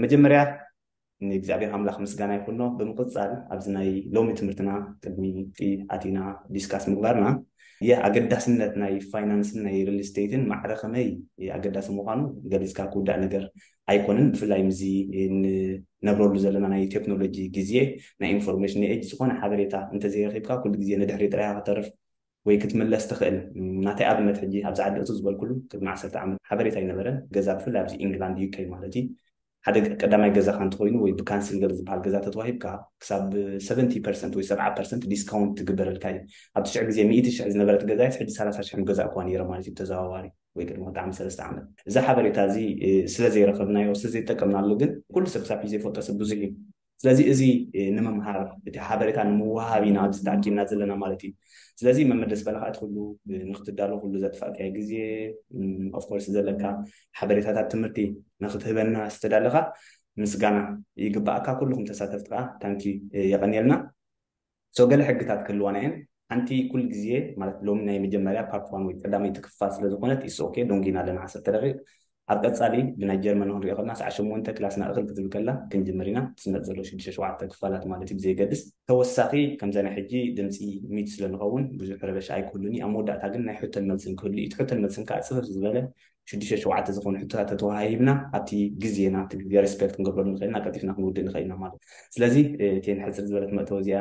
መጀመርያ ንእግዚኣብሔር ኣምላኽ ምስጋና ይኹኖ። ብምቕጻል ኣብዚ ናይ ሎሚ ትምህርትና ቅድሚ እቲ ኣቲና ዲስካስ ምግባርና የ ኣገዳስነት ናይ ፋይናንስን ናይ ሪል ስቴትን ማዕረ ከመይ ኣገዳሲ ምዃኑ ገሊጽካ ክውዳእ ነገር ኣይኮንን። ብፍላይ ምዚ ንነብረሉ ዘለና ናይ ቴክኖሎጂ ግዜ ናይ ኢንፎርሜሽን ኤጅ ዝኾነ ሓበሬታ እንተዘይረኺብካ ኩሉ ግዜ ንድሕሪ ጥራይ ክትተርፍ ወይ ክትምለስ ትኽእል። ናተይ ኣብነት ሕጂ ኣብዚ ዓዲ እቱ ዝበልኩሉ ቅድሚ ዓሰርተ ዓመት ሓበሬታ ኣይነበረን። ገዛ ብፍላይ ኣብዚ ኢንግላንድ ዩኬ ማለት እዩ ሓደ ቀዳማይ ገዛኻ እንተኮይኑ ወይ ብካንስል ገለ ዝበሃል ገዛ ተተዋሂብካ ክሳብ ሰቨንቲ ፐርሰንት ወይ ሰብዓ ፐርሰንት ዲስካውንት ትግበረልካ እዩ። ኣብ ትሽዕ ግዜ ሚእቲ ሽሕ ዝነበረት ገዛይስ ሕጂ ሰላሳ ሽሕ ገዛ እኳ ነይረ ማለት እዩ ተዘዋዋሪ ወይ ቅድሚ ክልተ ዓመት ሰለስተ ዓመት። እዚ ሓበሬታ እዚ ስለ ዘይረኸብናዮ ስለ ዘይጠቀምናሉ ግን ኩሉ ሰብ ክሳብ ሕጂ ዘይፈልጦ ሰብ ብዙሕ እዩ። ስለዚ እዚ ንምምሃር እቲ ሓበሬታ ንምውሃብ ኢና ኣብዚ ተኣኪብና ዘለና ማለት እዩ። ስለዚ መመደስ በለካ እቲ ኩሉ ንክትዳሎ ኩሉ ዘጥፋእካዮ ግዜ ኦፍኮርስ ዘለካ ሓበሬታታት ትምህርቲ ንክትህበና ዝተዳለካ ምስጋና ይግባኣካ። ኩልኩም ተሳተፍቲ ከዓ ታንኪ የቀንየልና። ሶ ገለ ሕግታት ክህልዋና እየን። ሓንቲ ኩል ግዜ ማለት ሎሚ ናይ መጀመርያ ፓርት ዋን ወይ ቀዳመይቲ ክፋል ስለ ዝኾነት ኢስ ኦኬ ዶንጊና ኣለና ዓሰርተ ደቂቕ። ኣብ ቀጻሊ ብናይ ጀርመን ክንሪኦ ከለና ሰዓ ሸሞንተ ክላስና እኽል ክትብል ከላ ክንጅምር ኢና። ትስነጥ ዘሎ ሽዱሽተ ሸውዓተ ክፋላት ማለት እዩ ብዘየገድስ። ተወሳኺ ከምዛ ናይ ሕጂ ድምፂ ሚት ስለ ንኸውን ብዙሕ ረበሻ ኣይክህሉን እዩ። ኣብ መወዳእታ ግን ናይ ሕቶን መልስን ክህሉ እዩ። እቲ ሕቶን መልስን ከዓ ፅፍፍ ዝበለ ሽዱሽተ ሸውዓተ ዝኾኑ ሕቶታት ተተዋሂብና ኣብቲ ግዜና እቲ ግዜ ሪስፔክት ክንገብረሉ ንኽእል ኢና፣ ቀልጢፍና ክንውድእ ንኽእል ኢና ማለት እዩ። ስለዚ እቴን ሕፅር ዝበለት መእተዊ እዚኣ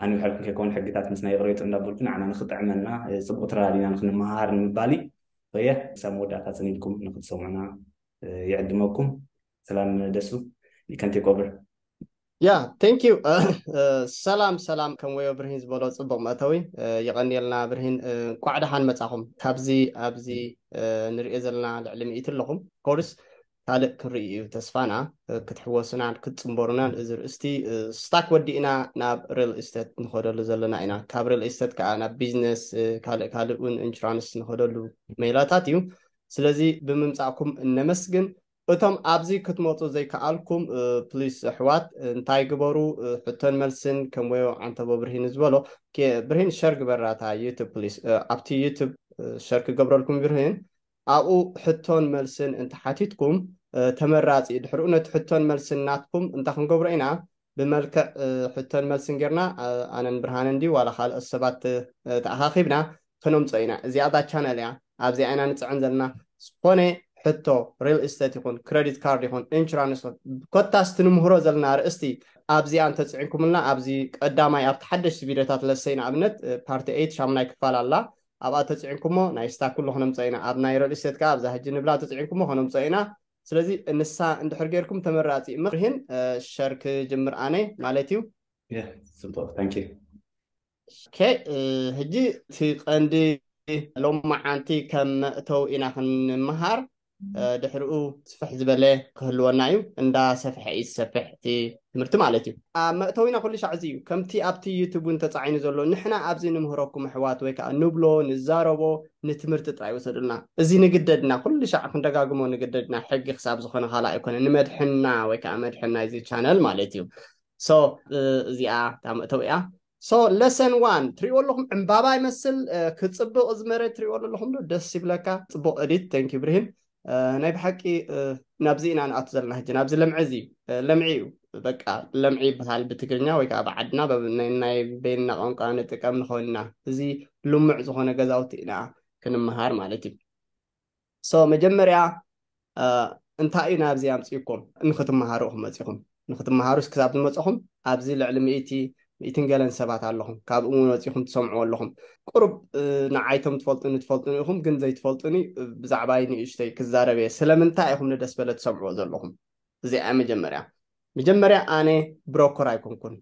ኣንውሐልኩም ከይከውን ሕግታት ምስ ናይ ይቕሬጡ እንዳበልኩ ንዓና ንኽጥዕመና ፅቡቕ ተረዳዲና ንክንመሃር ንምባል እዩ። የ ክሳብ መወዳእታ ፅን ኢልኩም ንክትሰምዑና ይዕድመኩም። ሰላም ደሱ you can take over. ያ ቴንክ ዩ። ሰላም ሰላም። ከም ወዮ ብርሂን ዝበሎ ፅቡቕ መእተዊ። የቐንየልና ብርሂን። እንቋዕ ደሓን መጻኹም። ካብዚ ኣብዚ ንሪኦ ዘለና ልዕሊ ሚእቲ ኣለኹም ኮርስ ካልእ ክንርኢ እዩ ተስፋና። ክትሕወሱናን ክትፅንበሩናን እዚ ርእስቲ ስታክ ወዲእና ናብ ሪል ስቴት ንኸደሉ ዘለና ኢና። ካብ ሪል ስቴት ከዓ ናብ ቢዝነስ ካልእ ካልእ እውን ኢንሹራንስ ንኸደሉ ሜላታት እዩ። ስለዚ ብምምፃእኩም እነመስግን። እቶም ኣብዚ ክትመፁ ዘይከኣልኩም ፕሊስ ኣሕዋት እንታይ ግበሩ? ሕቶን መልስን ከም ወዮ ዓንተቦ ብርሂን ዝበሎ ብርሂን ሸር ግበራታ ዩቱብ ፕሊስ። ኣብቲ ዩቱብ ሸር ክገብረልኩም ብርሂን ኣብኡ ሕቶን መልስን እንተሓቲትኩም ተመራፂ ድሕሪኡ ነቲ ሕቶን መልስን ናትኩም እንታይ ክንገብሮ ኢና? ብመልክዕ ሕቶን መልስን ጌርና ኣነን ብርሃንን ድዩ ዋላ ካልኦት ሰባት ተኣኻኺብና ከነምፅኦ ኢና። እዚኣ እዛ ቻነል እያ። ኣብዚኣ ኢና ንፅዕን ዘለና። ዝኾነ ሕቶ ሪል ስቴት ይኹን ክረዲት ካርድ ይኹን ኢንሹራንስ ይኹን ኮታስ ትንምህሮ ዘለና ርእስቲ ኣብዚኣ እንተፅዒንኩምልና ኣብዚ ቀዳማይ ኣብቲ ሓደሽቲ ቪዲዮታት ለሰይ ንኣብነት ፓርቲ ኤይት ሻሙናይ ክፋል ኣላ ኣብኣ ተፅዒንኩሞ ናይ ስታክ ኩሉ ክነምፀ ኢና። ኣብ ናይ ሪል ስቴት ከዓ ኣብዛ ሕጂ ንብላ ተፅዒንኩሞ ክነምፀ ኢና። ስለዚ ንሳ እንድሕር ጌርኩም ተመራፂ ምክርህን ሸር ክጅምር ኣነ ማለት እዩ። ጽቡቅ ታንኪ። ኦኬ፣ ሕጂ እቲ ቀንዲ ሎማዓንቲ ከም መእተው ኢና ክንምሃር። ድሕሪኡ ስፍሕ ዝበለ ክህልወና እዩ። እንዳ ሰፍሐ እዩ ዝሰፍሕ እቲ ትምህርቲ ማለት እዩ። ኣብ መእተዊና ኩሉ ሻዕ እዚ እዩ። ከምቲ ኣብቲ ዩቱብ እውን ተጻዒኑ ዘሎ ንሕና ኣብዚ ንምህረኩም ኣሕዋት ወይ ከዓ ንብሎ ንዛረቦ ንትምህርቲ ጥራይ ውሰዱልና። እዚ ንግደድና ኩሉ ሻዕ ክንደጋግሞ ንግደድና ሕጊ ክሳብ ዝኾነ ካልእ ኣይኮነ ንመድሕና ወይ ከዓ መድሕን ናይዚ ቻነል ማለት እዩ። ሶ እዚኣ እታ መእተዊ እያ። ሶ ለሰን ዋን ትሪእዎ ኣለኹም ዕምባባ ይመስል ክፅብቕ እዚ መሬት ትሪእዎ ኣለኹም ዶ ደስ ይብለካ። ፅቡቕ ኤዲት። Thank you ብርሂን። ናይ ብሓቂ ናብዚ ኢና ንኣቱ ዘለና ሕጂ ናብዚ ለምዒ እዚ ለምዒ እዩ። በቃ ለምዒ ይበሃል ብትግርኛ ወይ ከዓ ብዓድና ናይ በይንና ቋንቋ ንጥቀም ንኸውን ኢና። እዚ ልሙዕ ዝኾነ ገዛውቲ ኢና ክንመሃር ማለት እዩ። ሶ መጀመርያ እንታይ እዩ ናብዚ ኣምፅእኩም? ንክትመሃሩ ኢኹም መፂኹም። ንክትመሃሩስ ክሳብ ዝመፀኹም ኣብዚ ልዕሊ ሚእቲ ሚእትን ገለን ሰባት ኣለኹም። ካብኡ እውን ወፂኹም ትሰምዕዎ ኣለኹም። ቁሩብ ንዓይቶም ትፈልጡኒ ትፈልጡኒ ኢኹም፣ ግን ዘይትፈልጡኒ ብዛዕባይ ንእሽተይ ክዛረብ እየ። ስለምንታይ ኢኹም ንደስ በለ ትሰምዕዎ ዘለኹም? እዚኣ መጀመርያ መጀመርያ ኣነ ብሮከር ኣይኮንኩን፣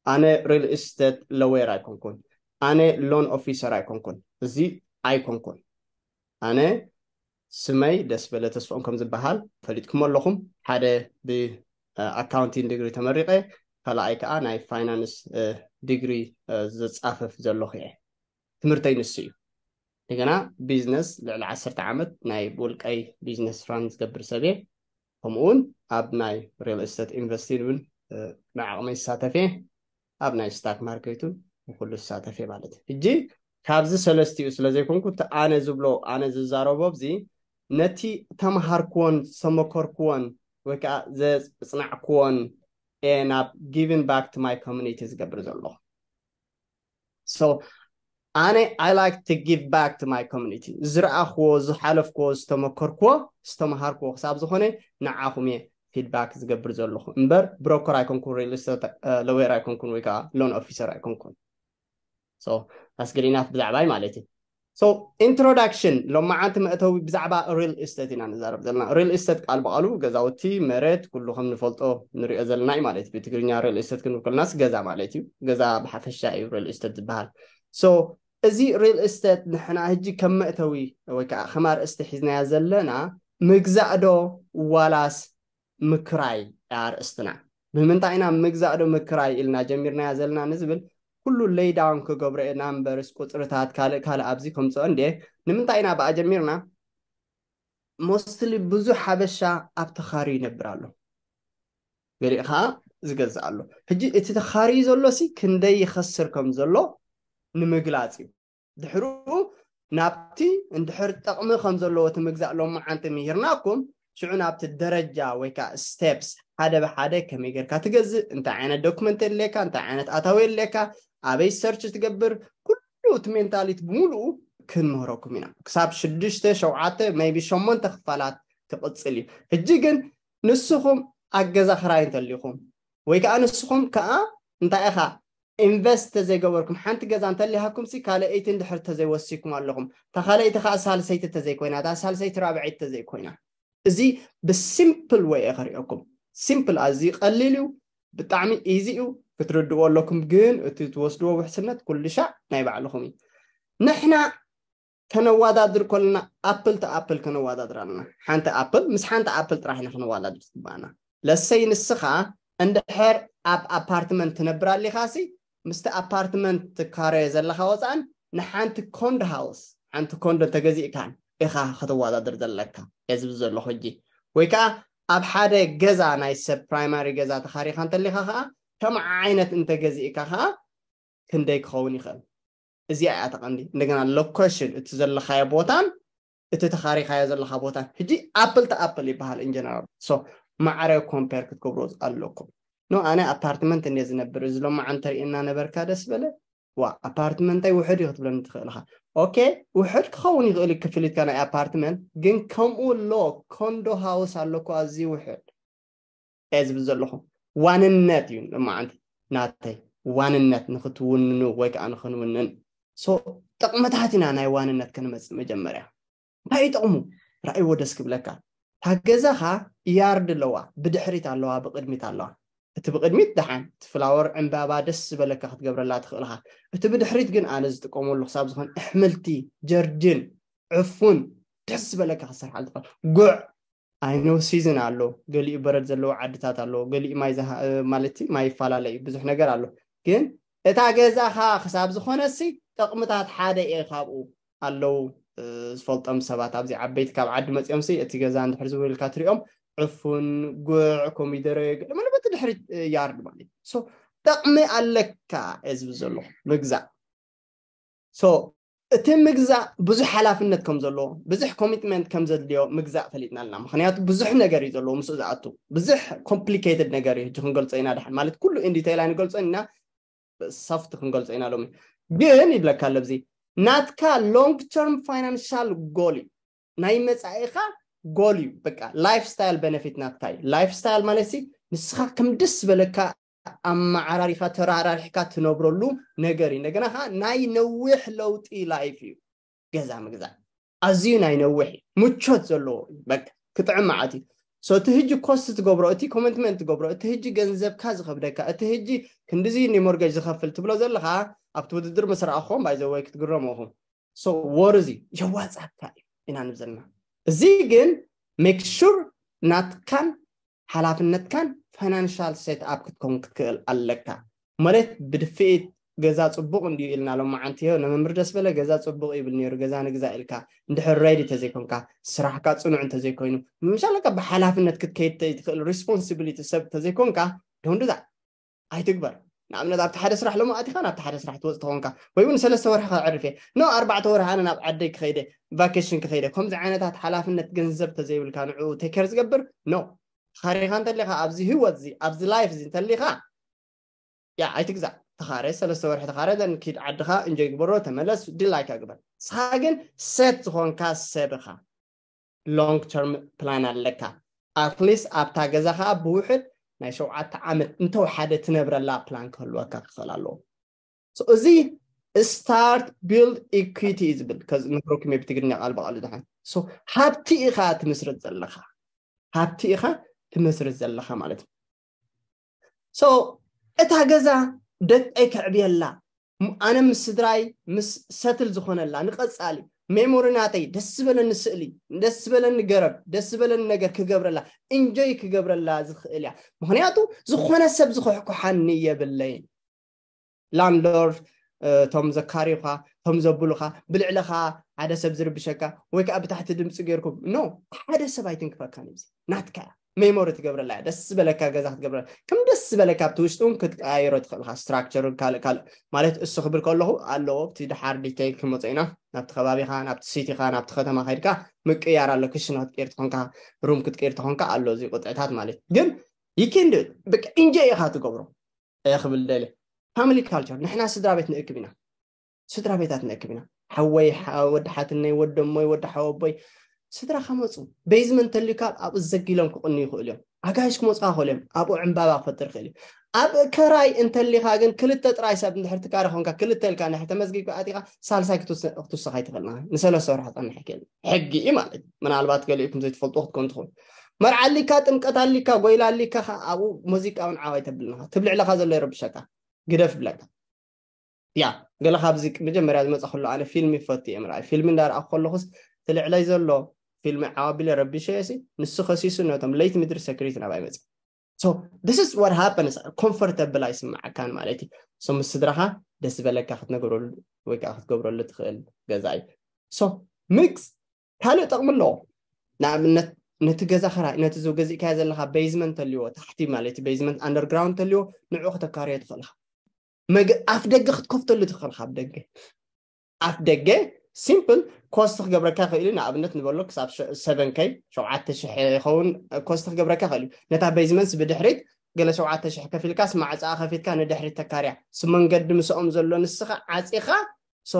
ኣነ ሪል ስቴት ሎየር ኣይኮንኩን፣ ኣነ ሎን ኦፊሰር ኣይኮንኩን፣ እዚ ኣይኮንኩን። ኣነ ስመይ ደስ በለ ተስፍኦም ከም ዝበሃል ፈሊጥኩም ኣለኹም። ሓደ ብኣካውንቲንግ ዲግሪ ተመሪቐ፣ ካልኣይ ከዓ ናይ ፋይናንስ ዲግሪ ዝፃፈፍ ዘለኹ እየ። ትምህርተይ ንሱ እዩ። እንደገና ቢዝነስ ልዕሊ ዓሰርተ ዓመት ናይ ብውልቀይ ቢዝነስ ራን ዝገብር ሰብ እየ። ከምኡ እውን ኣብ ናይ ሪል ስቴት ኢንቨስቲንግ እውን ብዓቕመይ ዝሳተፍ እየ። ኣብ ናይ ስታክ ማርኬት እውን ንኩሉ ዝሳተፍ እየ ማለት እዩ። ሕጂ ካብዚ ሰለስቲኡ ስለ ዘይኮንኩ እቲ ኣነ ዝብሎ ኣነ ዝዛረቦ ኣብዚ ነቲ ተምሃርክዎን ዝተመከርክዎን ወይ ከዓ ዘፅናዕክዎን እየ ናብ giving back to my community ዝገብር ዘለኹ። So ኣነ I like to give back to my community። ዝረኣኽዎ፣ ዝሓለፍክዎ፣ ዝተመከርክዎ፣ ዝተምሃርክዎ ክሳብ ዝኾነ ንዓኹም እየ feedback ዝገብር ዘለኹ እምበር broker ኣይኮንኩን፣ real estate lawyer ኣይኮንኩን ወይ ከዓ loan officer ኣይኮንኩን። So that's good enough ብዛዕባይ ማለት እዩ። So introduction፣ ሎማዓንቲ መእተዊ ብዛዕባ real estate ኢና ንዛረብ ዘለና። Real estate ቃል ብቃሉ ገዛውቲ፣ መሬት፣ ኩሉ ከም ንፈልጦ ንሪኦ ዘለና እዩ ማለት እዩ። ብትግርኛ real estate ክንብል ከለናስ ገዛ ማለት እዩ። ገዛ ብሓፈሻ እዩ real estate ዝበሃል። So እዚ real estate ንሕና ሕጂ ከም መእተዊ ወይ ከዓ ከም ኣርእስቲ ሒዝናያ ዘለና ምግዛእ ዶ ዋላስ ምክራይ ኣርእስትና። ብምንታይ ኢና ምግዛእ ዶ ምክራይ ኢልና ጀሚርናያ ዘለና ንዝብል ኩሉ lay down ክገብሮ እየ፣ numbers፣ ቁፅርታት፣ ካልእ ካልእ ኣብዚ ከምፅኦ እንዴ። ንምንታይ ኢና ብኣ ጀሚርና? Mostly ብዙሕ ሓበሻ ኣብ ተኻርዩ ይነብር ኣሎ፣ ገሊኡ ከዓ ዝገዝእ ኣሎ። ሕጂ እቲ ተኻርዩ ዘሎ ሲ ክንደይ ይኸስር ከም ዘሎ ንምግላፅ እዩ። ድሕሩ ናብቲ እንድሕር ጠቕሚ ከም ዘለዎ እቲ ምግዛእ ሎማዓንቲ ምሂርናኩም፣ ሽዑ ናብቲ ደረጃ ወይ ከዓ steps ሓደ ብሓደ ከመይ ጌርካ ትገዝእ፣ እንታይ ዓይነት document የድልየካ፣ እንታይ ዓይነት ኣታዊ የድልየካ፣ ኣበይ search ትገብር፣ ኩሉ እቲ mentality ብምሉኡ ክንምህረኩም ኢና። ክሳብ ሽዱሽተ፣ ሸውዓተ፣ maybe ሸሞንተ ክፋላት ክቕፅል እዩ። ሕጂ ግን ንስኹም ኣብ ገዛ ክራይ እንተሊኹም ወይ ከዓ ንስኹም ከዓ እንታይ ኢኻ invest ተዘይገበርኩም፣ ሓንቲ ገዛ እንተሊሃኩም ሲ ካልኣይቲ እንድሕር ተዘይወሲኩም ኣለኹም፣ እታ ካልኣይቲ ከዓ ሳልሰይቲ ተዘይኮይና፣ እታ ሳልሰይቲ ራብዐይቲ ተዘይኮይና፣ እዚ ብ simple way እየ ከሪኦኩም። Simple፣ ኣዝዩ ቀሊል እዩ፣ ብጣዕሚ easy እዩ፣ ክትርድእዎ ኣለኩም። ግን እቲ ትወስድዎ ውሕስነት ኩሉ ሻዕ ናይ ባዕልኹም እዩ። ንሕና ከነዋዳድር ከለና apple to apple ከነዋዳድር ኣለና። ሓንቲ apple ምስ ሓንቲ apple ጥራሕ ኢና ከነዋዳድር ዝግባኣና። ለሰይ ንስኻ እንድሕር ኣብ ኣፓርትመንት ትነብር ኣሊኻ ሲ ምስቲ ኣፓርትመንት ትካረዮ ዘለኻ ወፃእን ንሓንቲ condo house፣ ሓንቲ ኮንዶ ተገዚእካን ኢኻ ከተዋዳድር ዘለካ እየ ዝብል ዘለኹ ሕጂ። ወይ ከዓ ኣብ ሓደ ገዛ ናይ ሰብ primary ገዛ ተኻሪኻ እንተሊኻ ከዓ ከም ዓይነት እንተገዚእካ ከዓ ክንደይ ክኸውን ይኽእል? እዚኣ እያ ተቐንዲ። እንደገና location፣ እቲ ዘለኻዮ ቦታን እቲ ተኻሪኻዮ ዘለኻ ቦታን። ሕጂ apple to apple ይበሃል in general። So ማዕረ compare ክትገብሮ ኣለኩም። ኖ፣ ኣነ ኣፓርትመንት እንደ ዝነብር፣ እዚ ሎማዓንቲ ተርእየና ነበርካ ደስ በለ። ዋ፣ ኣፓርትመንተይ ውሕድ እዩ ክትብለኒ ትኽእል ኢኻ። ኦኬ፣ ውሕድ ክኸውን ይኽእል እዩ ክፍሊትካ ናይ ኣፓርትመንት፣ ግን ከምኡ ኣሎ፣ ኮንዶ ሃውስ ኣሎ እኮ ኣዝዩ ውሕድ እየ ዝብል ዘለኹ። ዋንነት እዩ ሎማዓንቲ ናተይ፣ ዋንነት ንክትውንኑ ወይ ከዓ ንክንውንን። So ጥቕምታት ኢና ናይ ዋንነት ክንመፅእ መጀመርያ። እንታይ እዩ ጥቕሙ? ራእይዎ ደስ ክብለካ። እታ ገዛኻ ያርድ ኣለዋ፣ ብድሕሪት ኣለዋ፣ ብቕድሚት ኣለዋ። እቲ ብቕድሚት ደሓን፣ እቲ ፍላወር ዕምባባ ደስ ዝበለካ ክትገብረላ ትኽእል ኢኻ። እቲ ብድሕሪት ግን ኣነ ዝጥቀመሉ ክሳብ ዝኾነ ኣሕምልቲ፣ ጀርድን፣ ዕፉን ደስ ዝበለካ ክትሰርሓሉ ትኽእል። ጉዕ፣ I know season ኣሎ፣ ገሊኡ በረድ ዘለዎ ዓድታት ኣሎ፣ ገሊኡ ማይ ዝሃ-፣ ማለት ማይ ይፈላለ እዩ፣ ብዙሕ ነገር ኣሎ። ግን እታ ገዛኻ ክሳብ ዝኾነሲ ጥቕምታት ሓደ እየ ካብኡ ኣለዉ፣ እ፣ ዝፈልጦም ሰባት ኣብዚ ዓበይቲ ካብ ዓዲ መፂኦም ሲ እቲ ገዛ እንድሕር ዝውልካ ትሪኦም ዕፉን፣ ጉዕ፣ ኮሚደረ፣ ገለ መለ በቲ ድሕሪት፣ እ፣ ያርድ ማለት እዩ። So ጥቕሚ ኣለካ እየ ዝብል ዘለኹ ምግዛእ። So እቲ ምግዛእ ብዙሕ ሓላፍነት ከም ዘለዎ፣ ብዙሕ ኮሚትመንት ከም ዘድልዮ ምግዛእ ፈሊጥና ኣለና። ምኽንያቱ ብዙሕ ነገር እዩ ዘለዎ ምስኡ ዝኣቱ። ብዙሕ complicated ነገር እዩ። ሕጂ ክንገልጾ ኢና ድሓን። ማለት ኩሉ in detail ኣይንገልጾን ኢና፣ soft ክንገልጾ ኢና ሎሚ። ግን ይብለካ ኣሎ ኣብዚ፣ ናትካ long term financial goal እዩ። ናይ መጻኢኻ ጎል እዩ። በቃ ላይፍ ስታይል ቤነፊት ናትካ እዩ። ላይፍ ስታይል ማለት ሲ ንስኻ ከም ደስ ዝበለካ ኣመዓራሪኻ ተራራሪሕካ ትነብረሉ ነገር እዩ። እንደገና ከዓ ናይ ነዊሕ ለውጢ ላይፍ እዩ። ገዛ ምግዛእ ኣዝዩ ናይ ነዊሕ እዩ። ምቾት ዘለዎ እዩ። በቃ ክጥዕም መዓት እዩ። So እቲ ህጂ ኮስት ትገብሮ፣ እቲ ኮሚትመንት ትገብሮ፣ እቲ ህጂ ገንዘብካ ዝኸብደካ፣ እቲ ህጂ ክንድዚ ኒ ሞርጌጅ ዝኸፍል ትብሎ ዘለኻ ኣብቲ ውድድር ምስ ረኣኹም ባይዘወይ ክትግረሙ ኢኹም። So ወርዚ የዋጻካ እዩ ኢና ንብል ዘለና። እዚ ግን make sure ናትካን ሓላፍነትካን ፋይናንሻል ሴት ኣፕ ክትከውን ክትክእል ኣለካ። ማለት ብድፍኢት ገዛ ጽቡቕ እንድዩ ኢልና ሎማዓንቲ ዮ ነመምር ደስ በለ ገዛ ጽቡቕ ይብል ነይሩ፣ ገዛ ንግዛ ኢልካ እንድሕር ሬዲ ተዘይኮንካ፣ ስራሕካ ጽኑዕ እንተዘይኮይኑ፣ ምሻለካ ብሓላፍነት ክትከይድ ትኽእል ሪስፖንሲቢሊቲ ሰብ ተዘይኮንካ፣ don't do that። ኣይትግበር። ንኣብነት ኣብቲ ሓደ ስራሕ ሎሚ ኣቲኻ ናብቲ ሓደ ስራሕ ትወፅ ተኾንካ፣ ወይ እውን ሰለስተ ወርሒ ከዕርፍ እየ፣ ኖ ኣርባዕተ ወርሒ ኣነ ናብ ዓደይ ክኸይደ፣ ቫኬሽን ክኸይደ፣ ከምዚ ዓይነታት ሓላፍነት ገንዘብ ተዘይብልካ ንዕኡ ቴከር ዝገብር ኖ። ተኻሪኻ እንተሊኻ ኣብዚ ህይወት እዚ ኣብዚ life እዚ እንተሊኻ ያ ኣይትግዛእ። ተኻረ ሰለስተ ወርሒ ተኻረ then ኪድ ዓድኻ እንጆይ ግበሮ፣ ተመለስ፣ ድላይካ ግበር። ንስኻ ግን set ዝኾንካ ሰብ ኢኻ። long term plan ኣለካ። at least ኣብታ ገዛ ከዓ ብውሕድ ናይ ሸውዓተ ዓመት እንተወሓደ ትነብረላ plan ክህልወካ ክኽእል ኣለዎ። So እዚ start build equity እዩ ዝብል። ከዚ ነግረኩም እየ ብትግርኛ ቃል ብቃሉ ድሓን። So ሃብቲ ኢኻ ትምስርት ዘለኻ፣ ሃብቲ ኢኻ ትመስርት ዘለኻ ማለት እዩ። So እታ ገዛ ደቀይ ከዕብየላ፣ ም- ኣነ ምስ ስድራይ ምስ settle ዝኾነላ ንቐጻሊ memory ናተይ ደስ ዝበለኒ ስእሊ፣ ደስ ዝበለኒ ገረብ፣ ደስ ዝበለኒ ነገር ክገብረላ፣ enjoy ክገብረላ ዝኽእል እያ። ምኽንያቱ ዝኾነ ሰብ ዝኹሕኩሓኒ የብለይን። landlord፣ እ፣ እቶም ዘካርዩኻ፣ እቶም ዘብሉኻ፣ ብልዕለኻ ሓደ ሰብ ዝርብሸካ ወይ ከዓ ብታሕቲ ድምፂ ገይርኩም፣ no፣ ሓደ ሰብ ኣይትንክፈካን እዩ። እዚ ናትካ እያ። memory ትገብረላ እያ። ደስ ዝበለካ ገዛ ክትገብረላ፣ ከም ደስ ዝበለካ ኣብቲ ውሽጢ እውን ክትቀያየሮ ትኽእል ኢኻ። structure ካልእ ካልእ ማለት እሱ ክብል ከለኹ ኣለዎ። ኣብቲ ድሓር detail ክመጾ ኢና። ናብቲ ከባቢኻ፣ ናብቲ city ኻ፣ ናብቲ ከተማ ከይድካ ምቅያር ኣሎ። ክሽነ ክትቀይር ተኾንካ፣ room ክትቀይር ተኾንካ ኣሎ እዚ ቁጥዕታት ማለት። ግን you can do it። በቃ enjoy ኢኻ ትገብሮ። እየ ክብል ደልየ። family culture፣ ንሕና ስድራ ቤት ንእክብ ኢና። ስድራ ቤታት ንእክብ ኢና። ሓወይ፣ ሓ- ወዲ ሓትነይ፣ ወዲ እሞይ፣ ወዲ ሓወቦይ፣ ስድራ ከመፁ basement ተልዩካ ኣብኡ ዘጊሎም ክቕኑ ይኽእሉ እዮም። ኣጋይሽ ክመፁካ ይኽእሉ እዮም። ኣብኡ ዕምባባ ክፈጥር ይኽእል እዩ። ኣብ ከራይ እንተሊኻ ግን ክልተ ጥራይ ሰብ እንድሕር ትካረ ኾንካ፣ ክልተ ኢልካ እንድሕር ተመዝጊብካ ኣቲኻ፣ ሳልሳይ ክትውስ- ክትውስኽ ኣይትኽእልን ኢኻ። ንሰለስተ ወርሒ ክፀንሕ ይኽእል እዩ። ሕጊ እዩ ማለት እዩ። ምናልባት ገሊኡ ከም ዘይትፈልጡ ክትኮን ትኽእሉ። መርዓ ኣሊካ፣ ጥምቀት ኣሊካ፣ ጎይላ ኣሊካ፣ ከ- ኣብኡ ሙዚቃ እውን ዓው ኣይተብልን ኢኻ። ትብልዕለኻ ዘሎ ይረብሸካ። ግደፍ ብለካ። ያ ገለ ካብዚ መጀመርያ ዝመፀ ከሎ ኣነ ፊልም ይፈቱ እየ ምርኣይ። ፊልም እንዳረኣኹ ከለኹስ ትልዕለይ ዘሎ ፊልም ዓባቢለ ረቢሸ እየ ሲ ንሱ ከሲሱ ነቶም ለይቲ ምድሪ ሰክሪት ናባይ መፅእ። So this is what happens። comfortable ኣይስምዓካን ማለት እዩ። So ምስ ስድራኻ ደስ ዝበለካ ክትነግረሉ ወይ ከዓ ክትገብረሉ ትኽእል ገዛ እዩ። So mix ካልእ ጥቕሚ ኣለዎ። ንኣብነት ነቲ ገዛ ኸራይ ነቲ ዝ- ገዚእካዮ ዘለኻ basement ተልዎ ታሕቲ ማለት እዩ basement underground ተልዎ ንዑ ከተካርዮ ትኽእል ኢኻ። መግ ኣፍ ደገ ክትከፍተሉ ትኽእል ኢኻ። ኣብ ደገ ኣፍ ደገ simple cost ክገብረካ ይኽእል እዩ። ንኣብነት ንበሎ ክሳብ ሸ- seven K ሸውዓተ ሽሕ ይኸውን cost ክገብረካ ይኽእል እዩ። ነታ basement ብድሕሪት ገለ ሸውዓተ ሽሕ ከፊልካስ ማዕፃኣ ከፊትካ ንድሕሪት ተካርያ። ስ መንገዲ ምስኦም ዘሎ ንስኻ ዓፂኻ so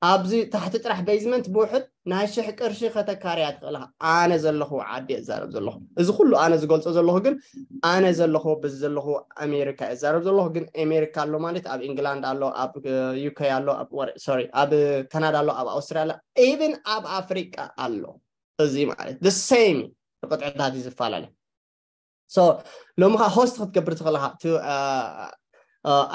ኣብዚ ታሕቲ ጥራሕ basement ብውሕድ ናይ ሽሕ ቅርሺ ከተካርያ ትኽእል ኢኻ። ኣነ ዘለኹ ዓዲ እዛረብ ዘለኹ። እዚ ኩሉ ኣነ ዝገልጾ ዘለኹ ግን ኣነ ዘለኹ በዚ ዘለኹ ኣሜሪካ እዛረብ ዘለኹ። ግን ኣሜሪካ ኣሎ ማለት ኣብ ኢንግላንድ ኣሎ፣ ኣብ UK ኣሎ፣ ኣብ ወረ- sorry ኣብ ካናዳ ኣሎ፣ ኣብ ኣውስትራልያ even ኣብ ኣፍሪቃ ኣሎ። እዚ ማለት the same እዩ። ብቅጥዕታት እዩ ዝፈላለ። So ሎሚ ኸዓ host ክትገብር ትኽእል ኢኻ። እቲ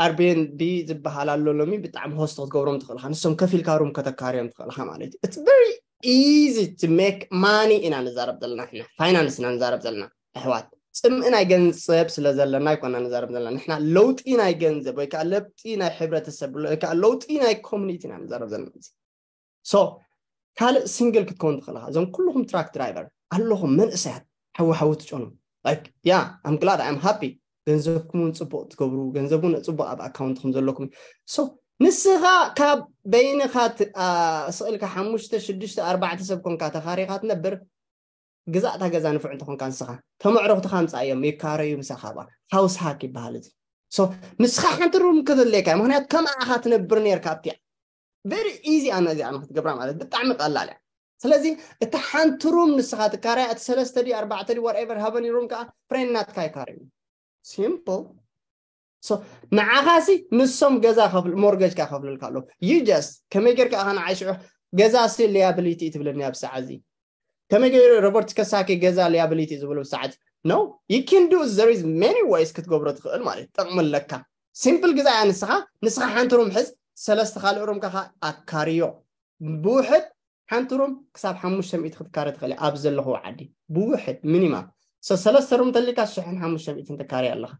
Airbnb ዝበሃል ኣሎ ሎሚ ብጣዕሚ host ክትገብሮም ትኽእል ኢኻ። ንሶም ከፊልካ ሩም ከተካርዮም ትኽእል ኢኻ ማለት እዩ። It's very easy to make money ኢና ንዛረብ ዘለና ንሕና። ፋይናንስ ኢና ንዛረብ ዘለና ኣሕዋት። ጽምኢ ናይ ገንዘብ ስለ ዘለና ኣይኮና ንዛረብ ዘለና ንሕና። ለውጢ ናይ ገንዘብ ወይ ከዓ ለውጢ ናይ ሕብረተሰብ ወይ ከዓ ለውጢ ናይ ኮሚኒቲ ኢና ንዛረብ ዘለና። So ካልእ ሲንግል ክትከውን ትኽእል ኢኻ። እዞም ኩልኹም ትራክ ድራይቨር ኣለኹም መንእሰያት ሓዊ ሓዊ ትጨኑ like yeah I'm glad I'm happy። ገንዘብኩም እውን ፅቡቅ ትገብሩ፣ ገንዘብ እውን ፅቡቅ ኣብ ኣካውንትኩም ዘለኩም። So ንስኻ ካብ በይንኻ ት- ኣ፣ ስቕ ኢልካ ሓሙሽተ ሽዱሽተ ኣርባዕተ ሰብ ኮንካ ተኻሪኻ ትነብር ግዛእታ ገዛ ንፉዕ እንተኾንካ ንስኻ ተመዕረኽትኻ ኣምፃእዮም ይካረዩ ምሳኻ ባ ሃውስ ሃክ ይበሃል እዚ። So ንስኻ ሓንቲ ሩም ክተለካ ምክንያቱ ከም ኣኻ ትነብር ነርካ ኣብቲያ very easy ኣነ እዚኣ ንክትገብራ ማለት ብጣዕሚ ቀላል እያ። ስለዚ እቲ ሓንቲ ሩም ንስኻ ትካራያ እቲ ሰለስተ ድዩ ኣርባዕተ ድዩ whatever ሃበኒ ሩም ከዓ ፍሬንድ ናትካ ይካረዩ። Simple። So ንዓኻሲ ንሶም ገዛ ከፍል ሞርገጅ ካ ከፍልልካ ኣለዉ። You just ከመይ ጌርካ ኢኻ ንዓይ ሽዑ ገዛ ሲ ሊያብሊቲ እዩ ትብለኒ ኣብ ሰዓት እዚ? ከመይ ገይሩ ሮበርት ከሳኪ ገዛ ሊያብሊቲ ዝብሉ ሰዓት? No, you can do, there is many ways ክትገብሮ ትኽእል ማለት እዩ። ጥቕሚ ኣለካ። ሲምፕል ግዛ እያ ንስኻ ንስኻ ሓንቲ ሩም ሕዝ፣ ሰለስተ ካልእ ሩም ከኻ ኣካርዮ። ብውሕድ ሓንቲ ሩም ክሳብ ሓሙሽተ ሚእቲ ክትካረ ትኽእል እያ ኣብ ዘለኹዎ ዓዲ ብውሕድ ሚኒማም። So ሰለስተ ሩም ተሊካ ሽሕን ሓሙሽተ ሚእትን ትካርያ ኣለኻ።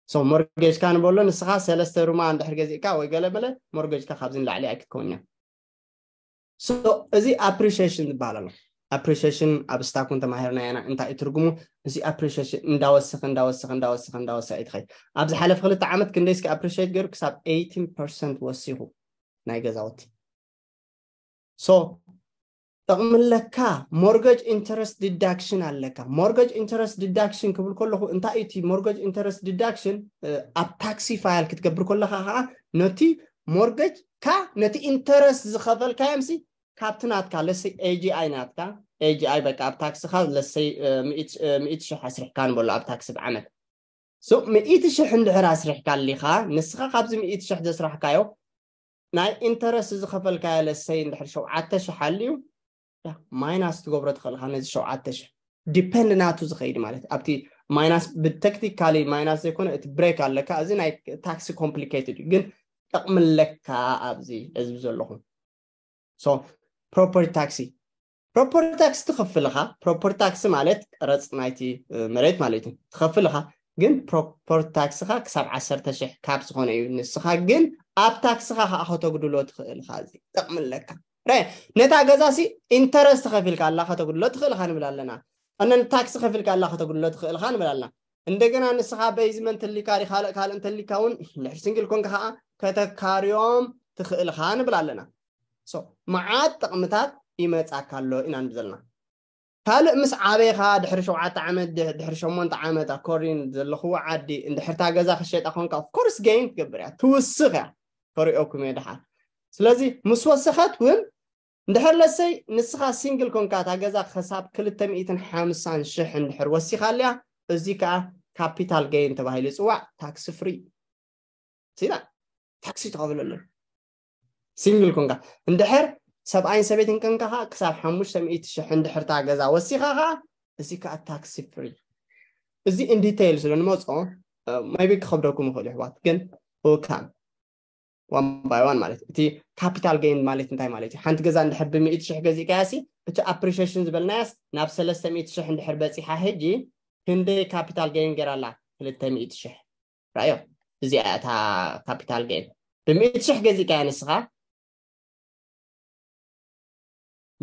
So ሞርጌጅካ ንበሎ ንስኻ ሰለስተ ሩማ እንድሕር ገዚእካ ወይ ገለ መለ ሞርጌጅካ ካብዚ ንላዕሊ ኣይክትከውን እያ። So እዚ ኣፕሪሺሽን ዝበሃል ኣሎ። ኣፕሪሺሽን ኣብ ስታክ እውን ተማሂርና ኢና እንታይ እዩ ትርጉሙ። እዚ ኣፕሪሺሽን እንዳወሰኸ እንዳወሰኸ እንዳወሰኸ እንዳወሰኸ እዩ ትኸይድ። ኣብ ዝሓለፈ ክልተ ዓመት ክንደይ እስኪ ኣፕሪሺት ገይሩ ክሳብ eighteen percent ወሲኹ ናይ ገዛውቲ። So ጠቕምለካ። Mortgage interest deduction ኣለካ። Mortgage interest deduction ክብል ከለኹ እንታይ እዩ እቲ mortgage interest deduction? ኣብ tax file ክትገብር ከለኻ ከዓ ነቲ mortgage ካ ነቲ interest ዝኸፈልካዮም ሲ ካብቲ ናትካ ለሰይ A G I ናትካ A G I በቃ ኣብ ታክስኻ ለሰይ ሚእቲ ሺሕ ኣስሪሕካ ንበሎ ኣብ ታክሲ ብዓመት so ሚእቲ ሺሕ እንድሕር ኣስሪሕካ ኣሊኻ ንስኻ ካብዚ ሚእቲ ሺሕ ዘስራሕካዮ ናይ interest ዝኸፈልካዮ ለሰይ እንድሕር ሸውዓተ ሺሕ ኣልዩ minus ትገብሮ ትኽእል ኢኻ ነዚ ሸውዓተ ሺሕ depend ናቱ ዝኸይድ ማለት ኣብቲ minus ብተክኒካሊ minus ዘይኮነ እቲ break ኣለካ እዚ ናይ tax complicated እዩ ግን ጠቕምለካ ኣብዚ ህዝቢ ዘለኹም so property tax property tax ትኸፍል ኢኻ property tax ማለት ቀረፅ ናይቲ መሬት ማለት እዩ ትኸፍል ኢኻ ግን property tax ኻ ክሳብ ዓሰርተ ሺሕ ካብ ዝኾነ እዩ ንስኻ ግን ኣብ ታክስኻ ከዓ ከተጉድሎ ትኽእል ኢኻ እዚ ጠቕምለካ ነታ ገዛ ሲ interest ከፊልካ ኣላ ከተጉድሎ ትኽእል ኢኻ ንብል ኣለና እነን tax ከፊልካ ኣላ ከተጉድሎ ትኽእል ኢኻ ንብል ኣለና እንደገና ንስኻ basement እንተሊካ ካልእ ካልእ እንተሊካ እውን ድሕር single ኮንካ ከዓ ከተካርዮም ትኽእል ኢኻ ንብል ኣለና so መዓት ጥቕምታት ይመጻካ ኣሎ ኢና ንብል ዘለና ካልእ ምስ ዓበኻ ድሕሪ ሸውዓተ ዓመት ድሕሪ ሸሞንተ ዓመት ኣኮሪን ዘለኽዎ ዓዲ እንድሕርታ ገዛ ክሸጣ ኮንካ of course gain ትገብር እያ ትውስኽ እያ ከሪኦኩም እየ ድሓር ስለዚ ምስ ወሰኸት እውን እንድሕር ለሰይ ንስኻ single ኮንካ እታ ገዛ ክሳብ ክልተ ሚእትን ሓምሳን ሽሕ እንድሕር ወሲኻ ኣልያ እዚ ከዓ capital gain ተባሂሉ ይፅዋዕ tax free ሲና tax ትኸፍለሉ single ኮንካ እንድሕር ሰብኣይን ሰበይትን ከንካ ከዓ ክሳብ ሓሙሽተ ሚእቲ ሽሕ እንድሕርታ ገዛ ወሲኻ ከዓ እዚ ከዓ tax free እዚ in detail ስለ ንመፅኦ maybe ክኸብደኩም ይኽእል ይሕዋት ግን እካም one by one ማለት እቲ capital gain ማለት እንታይ ማለት እዩ ሓንቲ ገዛ እንድሕር ብሚእቲ ሽሕ ገዚእካያ ሲ እቲ appreciation ዝበልናያስ ናብ ሰለስተ ሚእቲ ሽሕ እንድሕር በፂሓ ሕጂ ክንደይ capital gain ገይራ ኣላ ክልተ ሚእቲ ሽሕ ራእዮ እዚኣ እታ capital gain ብሚእቲ ሽሕ ገዚእካያ ንስኻ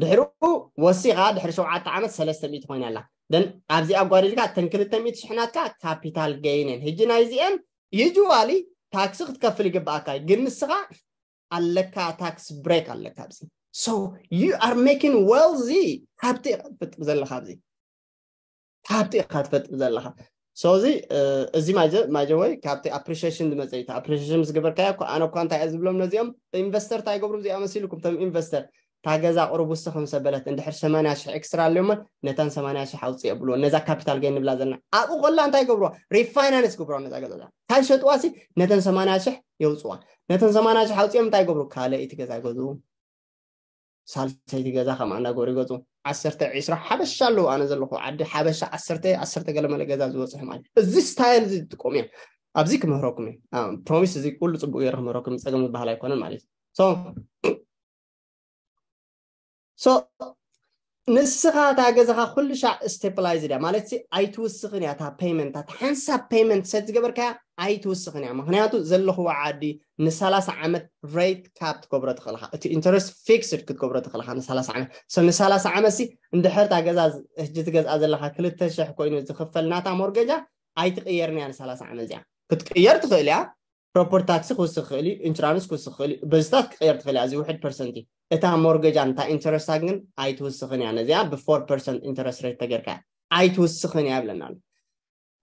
ድሕሪኡ ወሲኻ ድሕሪ ሸውዓተ ዓመት ሰለስተ ሚእቲ ኮይና ኣላ ደን ኣብዚ ኣጓዲልካ እተን ክልተ ሚእቲ ሽሕ ናትካ capital gain እየን ሕጂ ናይዚአን usually tax ክትከፍል ይግብኣካ እዩ ግን ንስኻ ኣለካ tax break ኣለካ ኣብዚ so you are making wealthy ሃብቲ ኢኻ ትፈጥር ዘለኻ ኣብዚ ሃብቲ ኢኻ ትፈጥር ዘለኻ so እዚ እዚ ማጀ ማጀ ወይ ካብቲ appreciation ዝመፀ እዩ appreciation ምስ ገበርካዮ እኮ ኣነ እኳ እንታይ እየ ዝብሎም ነዚኦም investor እንታይ ይገብሩ እዚኣ መሲልኩም ቶም investor እታ ገዛ ቁሩብ ውስኽ ምስ ኣበለት እንድሕር ሰማንያ ሽሕ extra ኣለዮማ ነተን ሰማንያ ሽሕ ኣውፅእ የብልዎ ነዛ capital gain ንብላ ዘለና ኣብኡ ከላ እንታይ ይገብርዋ refinance ይገብርዋ ነዛ ገዛ እንታይ ሸጥዋ ሲ ነተን ሰማንያ ሽሕ የውፅዋ ነተን ሰማንያ ሽሕ ኣውፅኦም እንታይ ይገብሩ ካልእ እቲ ገዛ ይገዝኡ ሳልሰይቲ ገዛ ከም ኣንዳ ጎሪጎፁ ዓሰርተ ዒስራ ሓበሻ ኣለዉ ኣነ ዘለኹ ዓዲ ሓበሻ ዓሰርተ ዓሰርተ ገለመለ ገዛ ዝበፅሑ ማለት እዚ style እዚ ትጥቀሙ እዮም ኣብዚ ክምህረኩም እዩ promise እዚ ኩሉ ፅቡቅ ገይረ ክምህረኩም ፀገም ዝበሃል ኣይኮነን ማለት እዩ so ንስኻ እታ ገዛኻ ኩሉ ሻዕ stabilize እያ ማለት ኣይትውስኽን እያ እታ payment እታ ሓንሳብ payment set ዝገበርካያ ኣይትውስኽን እያ ምክንያቱ ዘለኽዎ ዓዲ ንሰላሳ ዓመት rate cap ትገብሮ ትኽእልኻ እቲ interest fixed ክትገብሮ ትኽእልኻ ንሰላሳ ዓመት so ንሰላሳ ዓመት ሲ እንድሕር እታ ገዛ ሕጂ ትገዝኣ ዘለኻ ክልተ ሽሕ ኮይኑ ዝኽፈል ናታ ሞርገጃ ኣይትቕየርን እያ ንሰላሳ ዓመት እዚኣ ክትቅየር ትኽእል እያ property tax ክውስኽ ይኽእል እዩ insurance ክውስኽ ይኽእል እዩ በዝታት ክቕየር ትኽእል እያ እዚ ውሕድ percent እዩ እታ mortgage ን እታ interest ን ግን ኣይትውስኽን እያ ነዚኣ ብ four percent interest rate ተገይርካ ኣይትውስኽን እያ ይብለና ኣሎ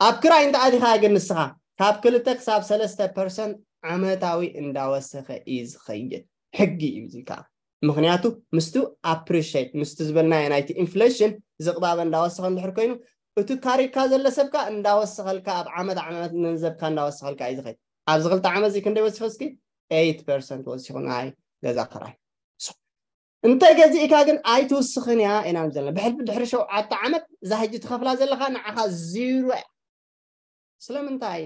ኣብ ክራይ እንተ ኣቲኻ ግን ንስኻ ካብ ክልተ ክሳብ ሰለስተ percent ዓመታዊ እንዳወሰኸ እዩ ዝኸይድ ሕጊ እዩ እዚ ከዓ ምኽንያቱ ምስቱ appreciate ምስቱ ዝበልናዮ ናይቲ inflation ዝቕባበ እንዳወሰኸ እንድሕር ኮይኑ እቲ ካሪካ ዘሎ ሰብካ እንዳወሰኸልካ ኣብ ዓመት ዓመት ገንዘብካ እንዳወሰኸልካ እዩ ዝኸይድ ኣብዚ ክልተ ዓመት እዚ ክንደይ ወሲኸ እስኪ eight percent ወሲኹ ናይ ገዛ ክራይ እንተ ገዚእካ ግን ኣይትውስኽን እያ ኢና ዘለና ብሕልፊ ድሕሪ ሸውዓተ ዓመት እዛ ሕጂ ትኸፍላ ዘለኻ ንዓኻ ዚሮ እያ ስለምንታይ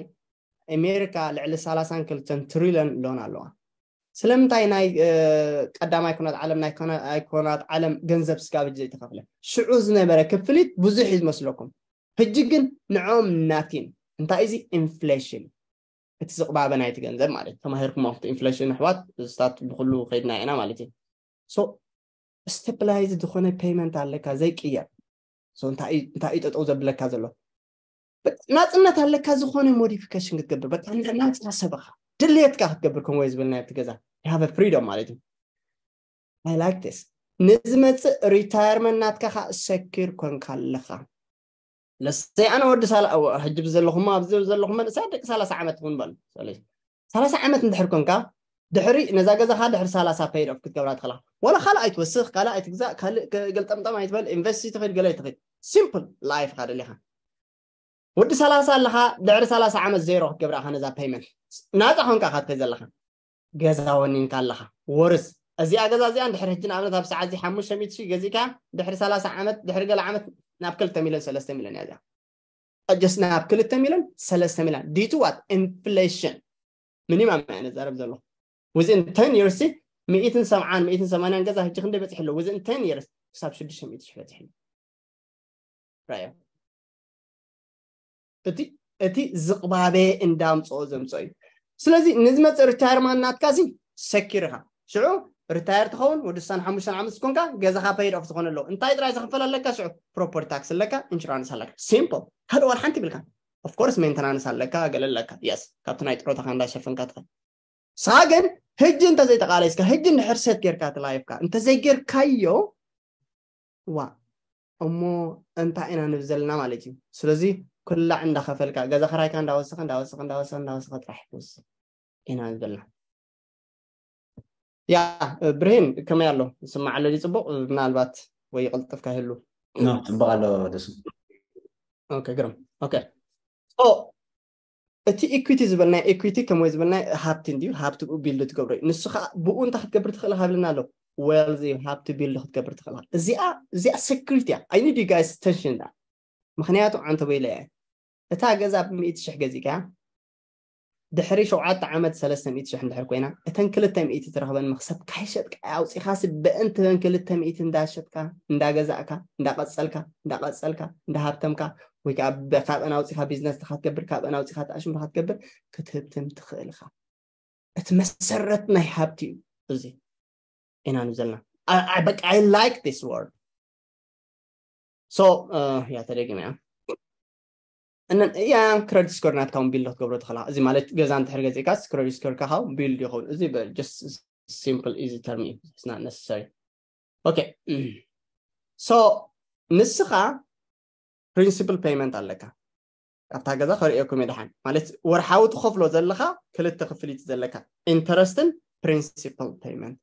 ኣሜሪካ ልዕሊ ሰላሳን ክልተን ትሪሊዮን ሎን ኣለዋ ስለምንታይ ናይ ቀዳማይ ኩናት ዓለም ናይ ኩናት ዓለም ገንዘብ ስጋብ ዘይተኸፍለ ሽዑ ዝነበረ ክፍሊት ብዙሕ እዩ ዝመስለኩም ሕጂ ግን ንዖም ናቲን እንታይ እዚ inflation እቲ ዝቕባበ ናይቲ ገንዘብ ማለት ተማሂርኩም ኣብቲ inflation ኣሕዋት ስታት ብኩሉ ከይድና ኢና ማለት እዩ so stabilize ዝኾነ payment ኣለካ ዘይቅየር እንታይ እዩ ጠጠው ዘብለካ ዘሎ ናፅነት ኣለካ ዝኾነ modification ክትገብር በቃ ናፃ ሰብኻ ድልየትካ ክትገብር ከምወይ ዝብል ናይ ኣብቲ ገዛ have freedom ማለት እዩ I like this ንዝመፅእ retirement ናትካ ከዓ secure ኮንካ ኣለኻ። ለሰይ ኣነ ወዲ ሳላ ሕጂ ብዘለኹም ኣብዚ ዘለኹም መንእሰያት ደቂ ሰላሳ ዓመት እውን በሉ። ሰላሳ ዓመት እንድሕር ኮንካ ድሕሪ ነዛ ገዛኻ ድሕሪ ሰላሳ paid off ክትገብራ ትኽእላ። ወላ ካልእ ኣይትወስኽ፣ ካልእ ኣይትግዛእ፣ ካልእ ገልጠምጠም ኣይትበል፣ ኢንቨስት ትኽእል፣ ገለ ትኽእል። Simple life ኻ ደሊኻ። ወዲ ሰላሳ ኣለኻ፣ ድሕሪ ሰላሳ ዓመት ዜሮ ክትገብራ ኢኻ ነዛ payment። ናፃ ኮንካ ኢኻ ትኸይድ ዘለኻ። ገዛ ወኒንካ ኣለኻ። ወርስ እዚኣ ገዛ እዚኣ እንድሕር ሕጂ ንኣብነት ኣብ ሰዓት እዚ ሓሙሽተ ሚእቲ ሺህ ገዚእካ ድሕሪ ሰላሳ ዓመት ድሕሪ ገለ ዓመት ናብ ክልተ ሚልዮን ሰለስተ ሚልዮን እያ እዚኣ። Just ናብ ክልተ ሚልዮን ሰለስተ ሚልዮን due to what? Inflation። Minimum እየ ነዛረብ ዘለኹ። Within ten years ሲ ሚእትን ሰብዓን ሚእትን ሰማንያን ገዛ ሕጂ ክንደይ በፂሑ ኣሎ? Within ten years ክሳብ ሽዱሽተ ሚእቲ ሺህ በፂሑ ኣሎ። ራዮ እቲ እቲ ዝቕባበ እንዳምፅኦ ዘምፅኦ እዩ። ስለዚ ንዝመፅእ retirement ናትካ ሲ secure ኢኻ። ሽዑ retire ትኸውን፣ ወዲ ስሳን ሓሙሽተን ዓመት ዝኮንካ ገዛኻ paid off ዝኾነ ኣለዎ። እንታይ ጥራይ ዝኽፈል ኣለካ? ሽዑ property tax ኣለካ፣ insurance ኣለካ። Simple። ካልእ ዋላ ሓንቲ ይብልካ። Of course maintenance ኣለካ፣ ገለ ኣለካ። Yes፣ ካብቲ ናይ ጥሮታኻ እንዳሸፈንካ ትኸ ንስኻ ግን ሕጂ እንተዘይተቓለስካ፣ ሕጂ እንድሕር set ጌርካ እቲ life ካ እንተዘይጌርካዮ፣ ዋ እሞ እንታይ ኢና ንብል ዘለና ማለት እዩ። ስለዚ ኩላዕ እንዳኸፈልካ፣ ገዛ ክራይካ እንዳወሰኸ እንዳወሰኸ እንዳወሰኸ እንዳወሰኸ ጥራሕ ትወስኽ ኢና ንብል ዘለና። ያ ብርሂን ከመይ ኣሎ? ይስማዕ ኣሎ ድዩ ጽቡቕ? ምናልባት ወይ ይቕልጥፍካ ይህሉ። ኖ፣ ጽቡቕ ኣሎ ደሱ። ኦኬ፣ ግርም። ኦኬ። So እቲ equity ዝበልናይ፣ equity ከምወይ ዝበልናይ ሃብቲ እንድዩ፣ ሃብቲ ብኡ build ትገብሮ እዩ። ንሱ ከዓ ብኡ እንታይ ክትገብር ትኽእል ሃብልና ኣሎ? Wealth እዩ፣ ሃብቲ build ክትገብር ትኽእል። እዚኣ እዚኣ secret እያ። I need you guys attention እያ። ምክንያቱ ዓንተ ወይለ እያ። እታ ገዛ ብሚእቲ ሽሕ ገዚእካ ድሕሪ ሸውዓተ ዓመት ሰለስተ ሚእቲ ሽሕ እንድሕር ኮይና፣ እተን ክልተ ሚእቲ ትረኽበን መኽሰብ ካይሸጥካ ኣውፂኻሲ፣ በእንቲ በን ክልተ ሚእቲ እንዳሸጥካ፣ እንዳገዛእካ፣ እንዳቐፀልካ፣ እንዳቐፀልካ፣ እንዳሃብተምካ፣ ወይ ከዓ ብ-፣ ካብአን ኣውፂኻ ቢዝነስ ድኻ ትገብር፣ ካብአን ኣውፂኻ ተኣሽምካ ትገብር፣ ክትህብትም ትኽእል ኢኻ። እቲ መሰረት ናይ ሃብቲ እዩ እዚ ኢና ንዘልና። I- I- በቃ I like this word። So ያ ተደጊመ እያ። እነን እያ credit score ናትካ እውን build ክትገብሮ ትኽእላ። እዚ ማለት ገዛ እንድሕር ገዚእካስ credit score ካ ቢልድ ይኸውን። እዚ በ- just simple easy term እዩ። It's not necessary። Okay. So ንስኻ principal payment ኣለካ። ካብታ ገዛ ከርእየኩም እየ ደሓን። ማለት ወርሓዊ ትኸፍሎ ዘለኻ ክልተ ክፍሊት ዘለካ፣ interest ን principal payment።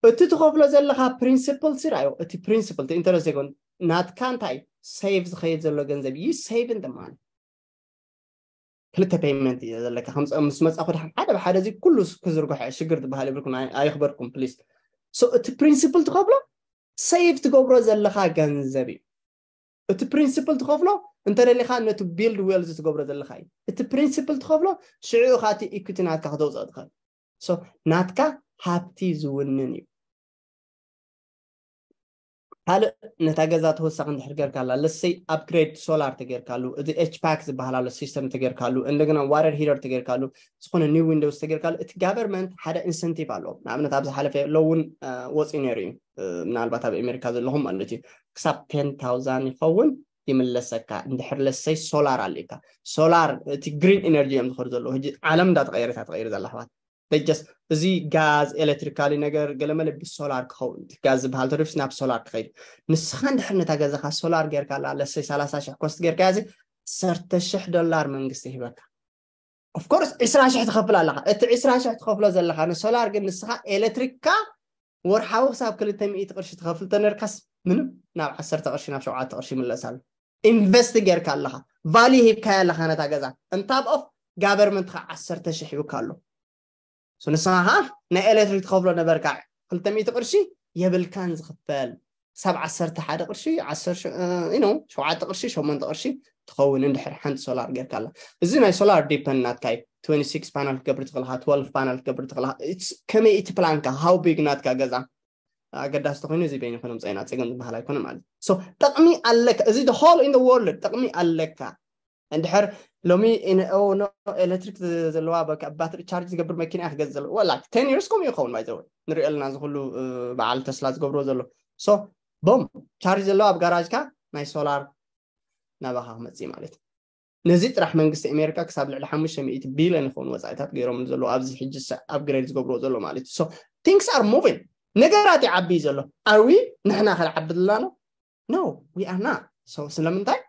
እቲ ትኸፍሎ ዘለኻ principal ሲ ራዮ፣ እቲ principal፣ እቲ interest ዘይኮን፣ ናትካ እንታይ save ዝኸይድ ዘሎ ገንዘብ እዩ፣ save ን ደማን ክልተ payment እዩ ዘለካ። ከም ምስ መጻኹ ደሓን ሓደ ብሓደ እዚ ኩሉ ክዝርግሖ ሽግር ዝበሃል ይብልኩም፣ ኣይ- ኣይኽበርኩም please። So እቲ principal ትኸፍሎ save ትገብሮ ዘለኻ ገንዘብ እዩ። እቲ principal ትኸፍሎ እንተደሊኻ ነቲ build wealth ትገብሮ ዘለኻ እዩ። እቲ principal ትኸፍሎ ሽዑ ኢኻ እቲ equity ናትካ ክተውፅኦ ትኽእል። So ናትካ ሃብቲ ዝውንን እዩ። ካልእ ነታ ገዛ ተወሳኺ እንድሕር ጌርካላ፣ let's say upgrade solar ተጌርካሉ፣ እዚ HVAC ዝበሃል ኣሎ system ተጌርካሉ፣ እንደገና water heater ተጌርካሉ፣ ዝኾነ new windows ተጌርካሉ፣ እቲ government ሓደ incentive ኣለዎ። ንኣብነት ኣብ ዝሓለፈ ሎ እውን ወፂኡ ነይሩ እዩ። ምናልባት ኣብ ኣሜሪካ ዘለኹም ማለት እዩ፣ ክሳብ ten thousand ይኸውን ይምለሰካ። እንድሕር let's say solar ኣልካ፣ solar እቲ green energy እዮም ዝኸዱ ዘለዉ። ሕጂ ዓለም እንዳተቐየረት እያ ትቐይር ዘላ ኣሕዋት። They just እዚ ጋዝ ኤሌክትሪካሊ ነገር ገለመለ ብሶላር ክኸውን፣ እቲ ጋዝ ዝበሃል ተሪፍስ ናብ ሶላር ክኸይድ። ንስኻ እንድሕር ነታ ገዛኻ ሶላር ጌርካላ፣ let's say ሰላሳ ሽሕ ኮስት ጌርካ እዚ ዓሰርተ ሽሕ ዶላር መንግስቲ ይህበካ። Of course ዕስራ ሽሕ ትኸፍል ኣለኻ። እቲ ዕስራ ሽሕ ትኸፍሎ ዘለኻ ንሶላር ግን ንስኻ ኤሌክትሪክካ ወርሓዊ ክሳብ ክልተ ሚእቲ ቅርሺ ትኸፍል ተነርካስ ምንም ናብ ዓሰርተ ቅርሺ ናብ ሸውዓተ ቅርሺ ይምለስ ኣሎ። ኢንቨስት ጌርካ ኣለኻ፣ ቫልዩ ሂብካያ ኣለኻ ነታ ገዛ። እንታብ ኦፍ ጋቨርመንትኻ ዓሰርተ ሽሕ ሂብካ ኣሎ። So ንስኻ ኸዓ ናይ ኤሌክትሪክ ትኸፍሎ ነበርካ ክልተ ሚእቲ ቅርሺ፣ የብልካን ዝኽፈል። ክሳብ ዓሰርተ ሓደ ቅርሺ፣ ዓሰርተ ሸውዓተ ቅርሺ፣ ሸሞንተ ቅርሺ ትኸውን እንድሕር ሓንቲ ሶላር ጌርካ ኣላ። እዚ ናይ ሶላር ዲፐንድ ናትካ እዩ። ትወንቲ ሲክስ ፓናል ክትገብር ትኽእል ኢኻ፣ ትወልቭ ፓናል ክትገብር ትኽእል ኢኻ። It's ከመይ እቲ ፕላንካ፣ how big ናትካ ገዛ ኣገዳሲ ተኾይኑ እዚ በይኑ ይኾን ምፀይና ፀገም ዝበሃል ኣይኮነ ማለት እዩ። So ጠቕሚ ኣለካ፣ እዚ the whole in the world ጠቕሚ ኣለካ። እንድሕር ሎሚ ኤሌክትሪክ ዘለዋ ባትሪ ቻርጅ ዝገብር መኪና እያ ክገዝእ ዘለዋ። Like ten years ከምኡ ይኸውን ባይዘወ ንሪኦ ኣለና፣ እዚ ኩሉ በዓል ተስላ ዝገብርዎ ዘሎ። So ቦም ቻርጅ ዘለዋ ኣብ ጋራጅካ ናይ ሶላር ናባኻ ክመፅእ ማለት እዩ። ነዚ ጥራሕ መንግስቲ ኣሜሪካ ክሳብ ልዕሊ ሓሙሽተ ሚእቲ ቢልዮን ይኸውን ወፃኢታት ገይሮም ዘለዉ ኣብዚ ሕጂ upgrade ዝገብርዎ ዘሎ ማለት እዩ። So things are moving። ነገራት ይዓቢ እዩ ዘሎ። Are we ንሕና ክንዓቢ ዘለና ነው? No, we are not. So ስለምንታይ?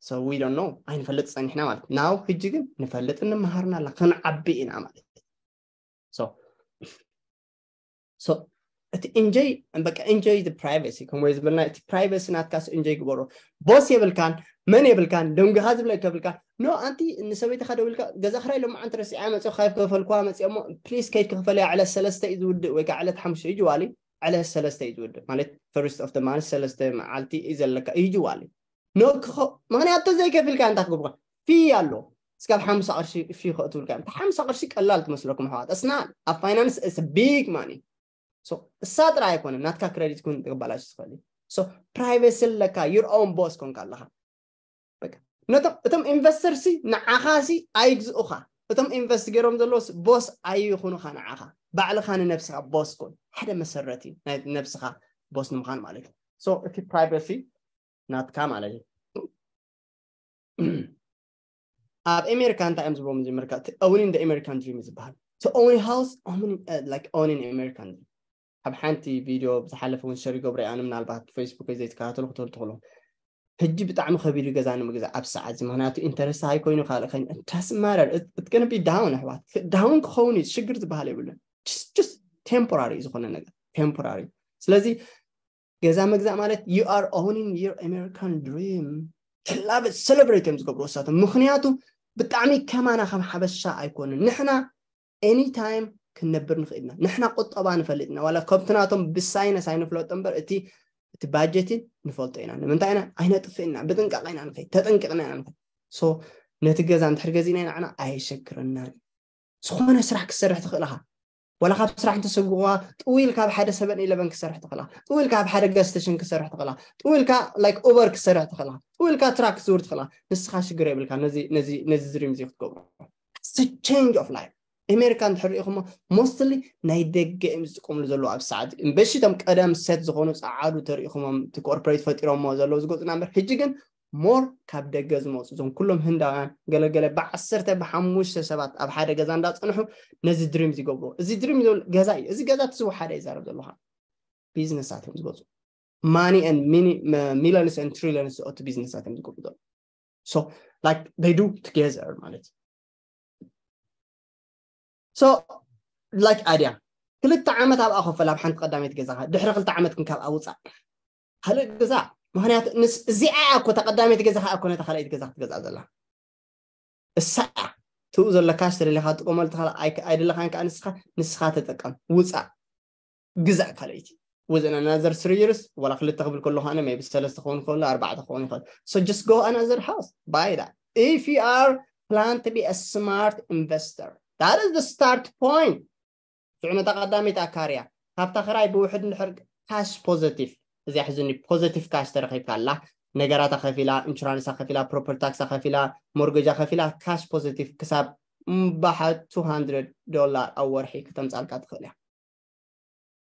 So we don't know. ኣይንፈልጥ ጸኒሕና ማለት now። ሕጂ ግን ንፈልጥ እንመሃርና ኣላ፣ ክንዓቢ ኢና ማለት። So so እቲ enjoy በቃ enjoy the privacy ከም ወይ ዝበልና እቲ privacy ናትካስ enjoy ግበሮ። ቦስ የብልካን፣ መን የብልካን፣ ደንጉኻ ዝብለካ የብልካን። No ኣንቲ ንሰበይትኻ ደዊልካ ገዛ ክራይ ሎማዓንቲ ረሲዓ መጽኦ ካብ ከፈልኩዋ መጽኦ እሞ please ከይድ ክኽፈል እያ፣ ዕለት ሰለስተ እዩ ዝውድእ ወይ ከዓ ዕለት ሓሙሽተ እዩ ጅዋሊ። ዕለት ሰለስተ እዩ ዝውድእ ማለት first of the month ሰለስተ መዓልቲ እዩ ዘለካ እዩ ጅዋሊ። No ክኸ ምክንያቱ ዘይከፊልካ እንታይ ክገብርካ fee ኣሎ። እስካብ ሓምሳ ቅርሺ fee ከእትውልካ እዮም። ሓምሳ ቅርሺ ቀላል ትመስለኩም ኣሕዋት። It's not. ኣብ finance it's a big money. So እሳ ጥራይ ኣይኮነን ናትካ credit ክውን ክበላሽ ዝኽእል እዩ። So privacy ኣለካ፣ your own boss ኮንካ ኣለኻ። በቃ ነቶም እቶም investor ሲ ንዓኻ ሲ ኣይግዝኡኻ። እቶም invest ገይሮም ዘለዉ boss ኣይኹኑኻ ንዓኻ። ባዕልኻ ንነብስኻ boss ኮን። ሓደ መሰረት እዩ ናይ ነብስኻ boss ንምዃን ማለት እዩ። So እቲ privacy ናትካ ማለት እዩ። ኣብ ኣሜሪካ እንታይ እዮም ዝብሎም እዚ ኣሜሪካ? Owning the American dream ዝበሃል። To own a house, owning, uh, like owning American dream። ኣብ ሓንቲ ቪድዮ ብዝሓለፈ እውን ሸር ይገብረ ኣነ ምናልባት Facebook ዘይተከታተሉ ክትፈልጡ ትኽእሉ። ሕጂ ብጣዕሚ ከቢዱ ገዛ ንምግዛእ ኣብ ሰዓት እዚ ምክንያቱ interest high ኮይኑ ካልእ ከይኑ doesn't matter, it's gonna be down ኣሕዋት። Down ክኸውን እዩ፣ ሽግር ዝበሃል የብሉን። Just temporary ዝኾነ ነገር temporary። ስለዚ ገዛ ምግዛእ ማለት you are owning your American dream. Love it, celebrate እዮም ዝገብሩ እሳቶም። ምክንያቱ ብጣዕሚ ከማና ከም ሓበሻ ኣይኮንን። ንሕና anytime ክንነብር ንኽእል ኢና። ንሕና ቁጠባ ንፈልጥ ኢና። ዋላ ከምቲ ናቶም ብሳይነስ ኣይንፍለጦ እምበር እቲ እቲ ባጀትን ንፈልጦ ኢና። ንምንታይ ኢና ኣይነጥፍእና፣ ብጥንቃቄ ኢና ንኸይድ፣ ተጠንቂቕና ኢና ንኸይድ። So ነቲ ገዛ እንድሕር ገዚእና ኢና ንዓና ኣየሸግረናን። ዝኾነ ስራሕ ክትሰርሕ ትኽእል ኢኻ። ዋላ ካብ ስራሕ እንተሰጉዋ ጥው ኢልካ ኣብ ሓደ ሰበን ኢለቨን ክትሰርሕ ትኽእል ኢኻ። ጥው ኢልካ ኣብ ሓደ ጋዝ ስቴሽን ክትሰርሕ ትኽእል ኢኻ። ጥው ኢልካ like Uber ክትሰርሕ ትኽእል ኢኻ። ጥው ኢልካ ትራክ ክትዝውር ትኽእል ኢኻ። ንስኻ ሽግር የብልካ ነዚ ነዚ ነዚ ድሪም እዚ ክትገብሮ። It's a change of life. ኣሜሪካ እንድሕር ሪኢኹሞ mostly ናይ ደገ እዮም ዝጥቀምሉ ዘለዉ ኣብ ሰዓት እምበሺ እቶም ቀደም set ዝኾኑ ጸዓዱ ተሪኢኹሞም እቲ ኮርፖሬት ፈጢሮሞ ዘለዉ ዝገጹና እምበር ሕጂ ግን more ካብ ደገ ዝመፁ እዞም ኩሎም ህንዳውያን ገለገለ ብዓሰርተ ብሓሙሽተ ሰባት ኣብ ሓደ ገዛ እንዳፀንሑ ነዚ ድሪም ዝገብርዎ። እዚ ድሪም ዝብል ገዛ እዩ። እዚ ገዛ እቲ ዝወሓደ ይዛረብ ዘለኹ። ቢዝነሳት እዮም ዝገፁ። Money and millions and trillions ዝኣቱ ቢዝነሳት እዮም ዝገብሩ ዘለዉ። So like they do together ማለት እዩ። So like ኣድያ ክልተ ዓመት ኣብኣ ኮፈል ኣብ ሓንቲ ቀዳመይቲ ገዛኻ ድሕሪ ክልተ ዓመት ግን ካብኣ ውፃእ ካልእ ግዛእ። ምክንያቱ እዚኣ እኮ ተቀዳመይቲ ገዛኻ እኮ ነታ ካልኣይቲ ገዛ ክትገዝኣ ዘላ እሳ ትኡ ዘለካ ተደሊኻ ጥቀመሉ ተኻላ ኣይደለኻን ከዓ ንስኻ ንስኻ ተጠቀም ውፃእ ግዛእ ካልኣይቲ within another three years ወላ ክልተ ክብል ከለኹ ኣነ maybe ሰለስተ ክኸውን ይኽእል ኣርባዕተ ክኸውን ይኽእል። So just go another house, buy that if you are plan to be a smart investor. That is the start point. ሽዑ ነታ ቀዳመይቲ ኣካርያ ካብታ ክራይ ብውሕድ እንድሕር cash positive እዚኣ ሕዝኒ positive cash ተረኺብካ ኣላ ነገራታ ከፊላ ኢንሹራንሳ ከፊላ property tax ከፊላ mortgage ከፊላ cash positive ክሳብ እምባሓ two hundred dollar ኣብ ወርሒ ክተምፃልካ ትኽእል እያ።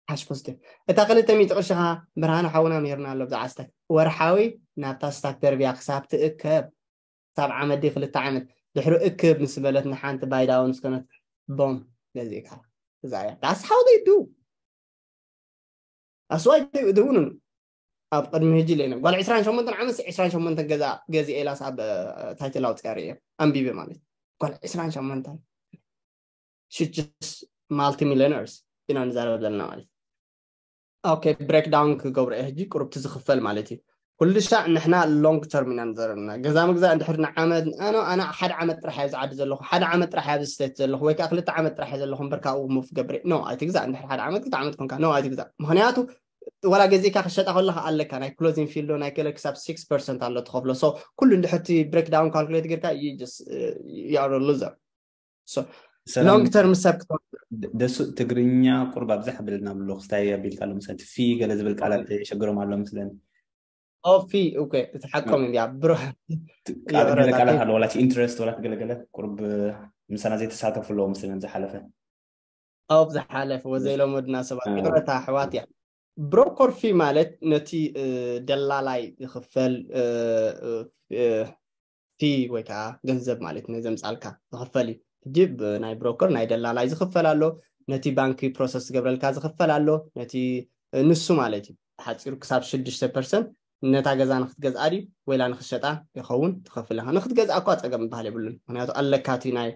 Cash positive እታ ክልተ ሚእቲ ቅርሽኻ ብርሃነ ሓውና ምሂርና ኣሎ ብዛዕባ ስታክ ወርሓዊ ናብታ ስታክ ደርብያ ክሳብ ትእከብ ክሳብ ዓመት ድዩ ክልተ ዓመት ድሕሪ እክብ ምስ በለት ንሓንቲ buy down ስከነት ቦም ገዚእካ እዛ እያ that's how they do that's why they do ኣብ ቅድሚ ሕጂ ኢለ ጓል ዕስራን ሸሞንተን ዓመት ዕስራን ሸሞንተን ገዛ ገዚአ ኢላስ ኣብ title ኣውፅኣ ርእየ ኣንቢበ ማለት ጓል ዕስራን ሸሞንተን she's just multi millionaires ኢና ንዛረብ ዘለና ማለት okay breakdown ክገብሮ እየ ሕጂ ቁሩብቲ ዝኽፈል ማለት እዩ ኩሉ ሻዕ ንሕና long term ኢና ንዘረብና ገዛ ምግዛእ እንድሕር ንዓመት ኣነ ኣነ ሓደ ዓመት ጥራሕ እየ ዝዓዲ ዘለኹ ሓደ ዓመት ጥራሕ እየ ኣብዚ state ዘለኹ ወይ ከዓ ክልተ ዓመት ጥራሕ እየ ዘለኹ እምበር ካብኡ move ገብር no ኣይትግዛእ እንድሕር ሓደ ዓመት ክልተ ዓመት ኮንካ no ኣይትግዛእ ምክንያቱ ዋላ ገዚእካ ክሸጣ ከለካ ኣለካ ናይ closing fee ዶ ናይ ገለ ክሳብ six percent ኣሎ ትኸፍሎ so ኩሉ እንድሕር እቲ breakdown calculate ጌርካ you just you are a loser so long term ሰብ ክትወ ደሱ ትግርኛ ቁርብ ኣብዛሕ ብልና ብሎ ክስታይ ኣቢልካ ኣሎ ምሰን ፊ ገለ ዝብል ቃላት የሸግሮም ኣሎ ምስለን ኦፊ okay እቲ ሓቆም እንዲያ ብሮ ገለ ቃላት ኣሎ ዋላ ኢንትረስት ዋላ ገለገለ ቁርብ ምሳና ዘይተሳተፉ ኣለዎ ምስለን ዝሓለፈ ኣብ ዝሓለፈ ወዘይሎም ወድና ሰባት ይቅረታ ኣሕዋት እያ broker fee ማለት ነቲ ደላላይ ዝኽፈል fee ወይ ከዓ ገንዘብ ማለት ነዘምፃልካ ዝኽፈል እዩ ሕጂ ናይ broker ናይ ደላላይ ዝኽፈል ኣሎ ነቲ ባንኪ ፕሮሰስ ዝገብረልካ ዝኽፈል ኣሎ። ነቲ ንሱ ማለት እዩ ሓፂሩ ክሳብ ሽዱሽተ ፐርሰንት ነታ ገዛ ንክትገዝኣ ድዩ ወይላ ንክትሸጣ ይኸውን ትኸፍል ኢኻ። ንክትገዝኣ እኳ ፀገም ዝበሃል የብሉን፣ ምክንያቱ ኣለካ እቲ ናይ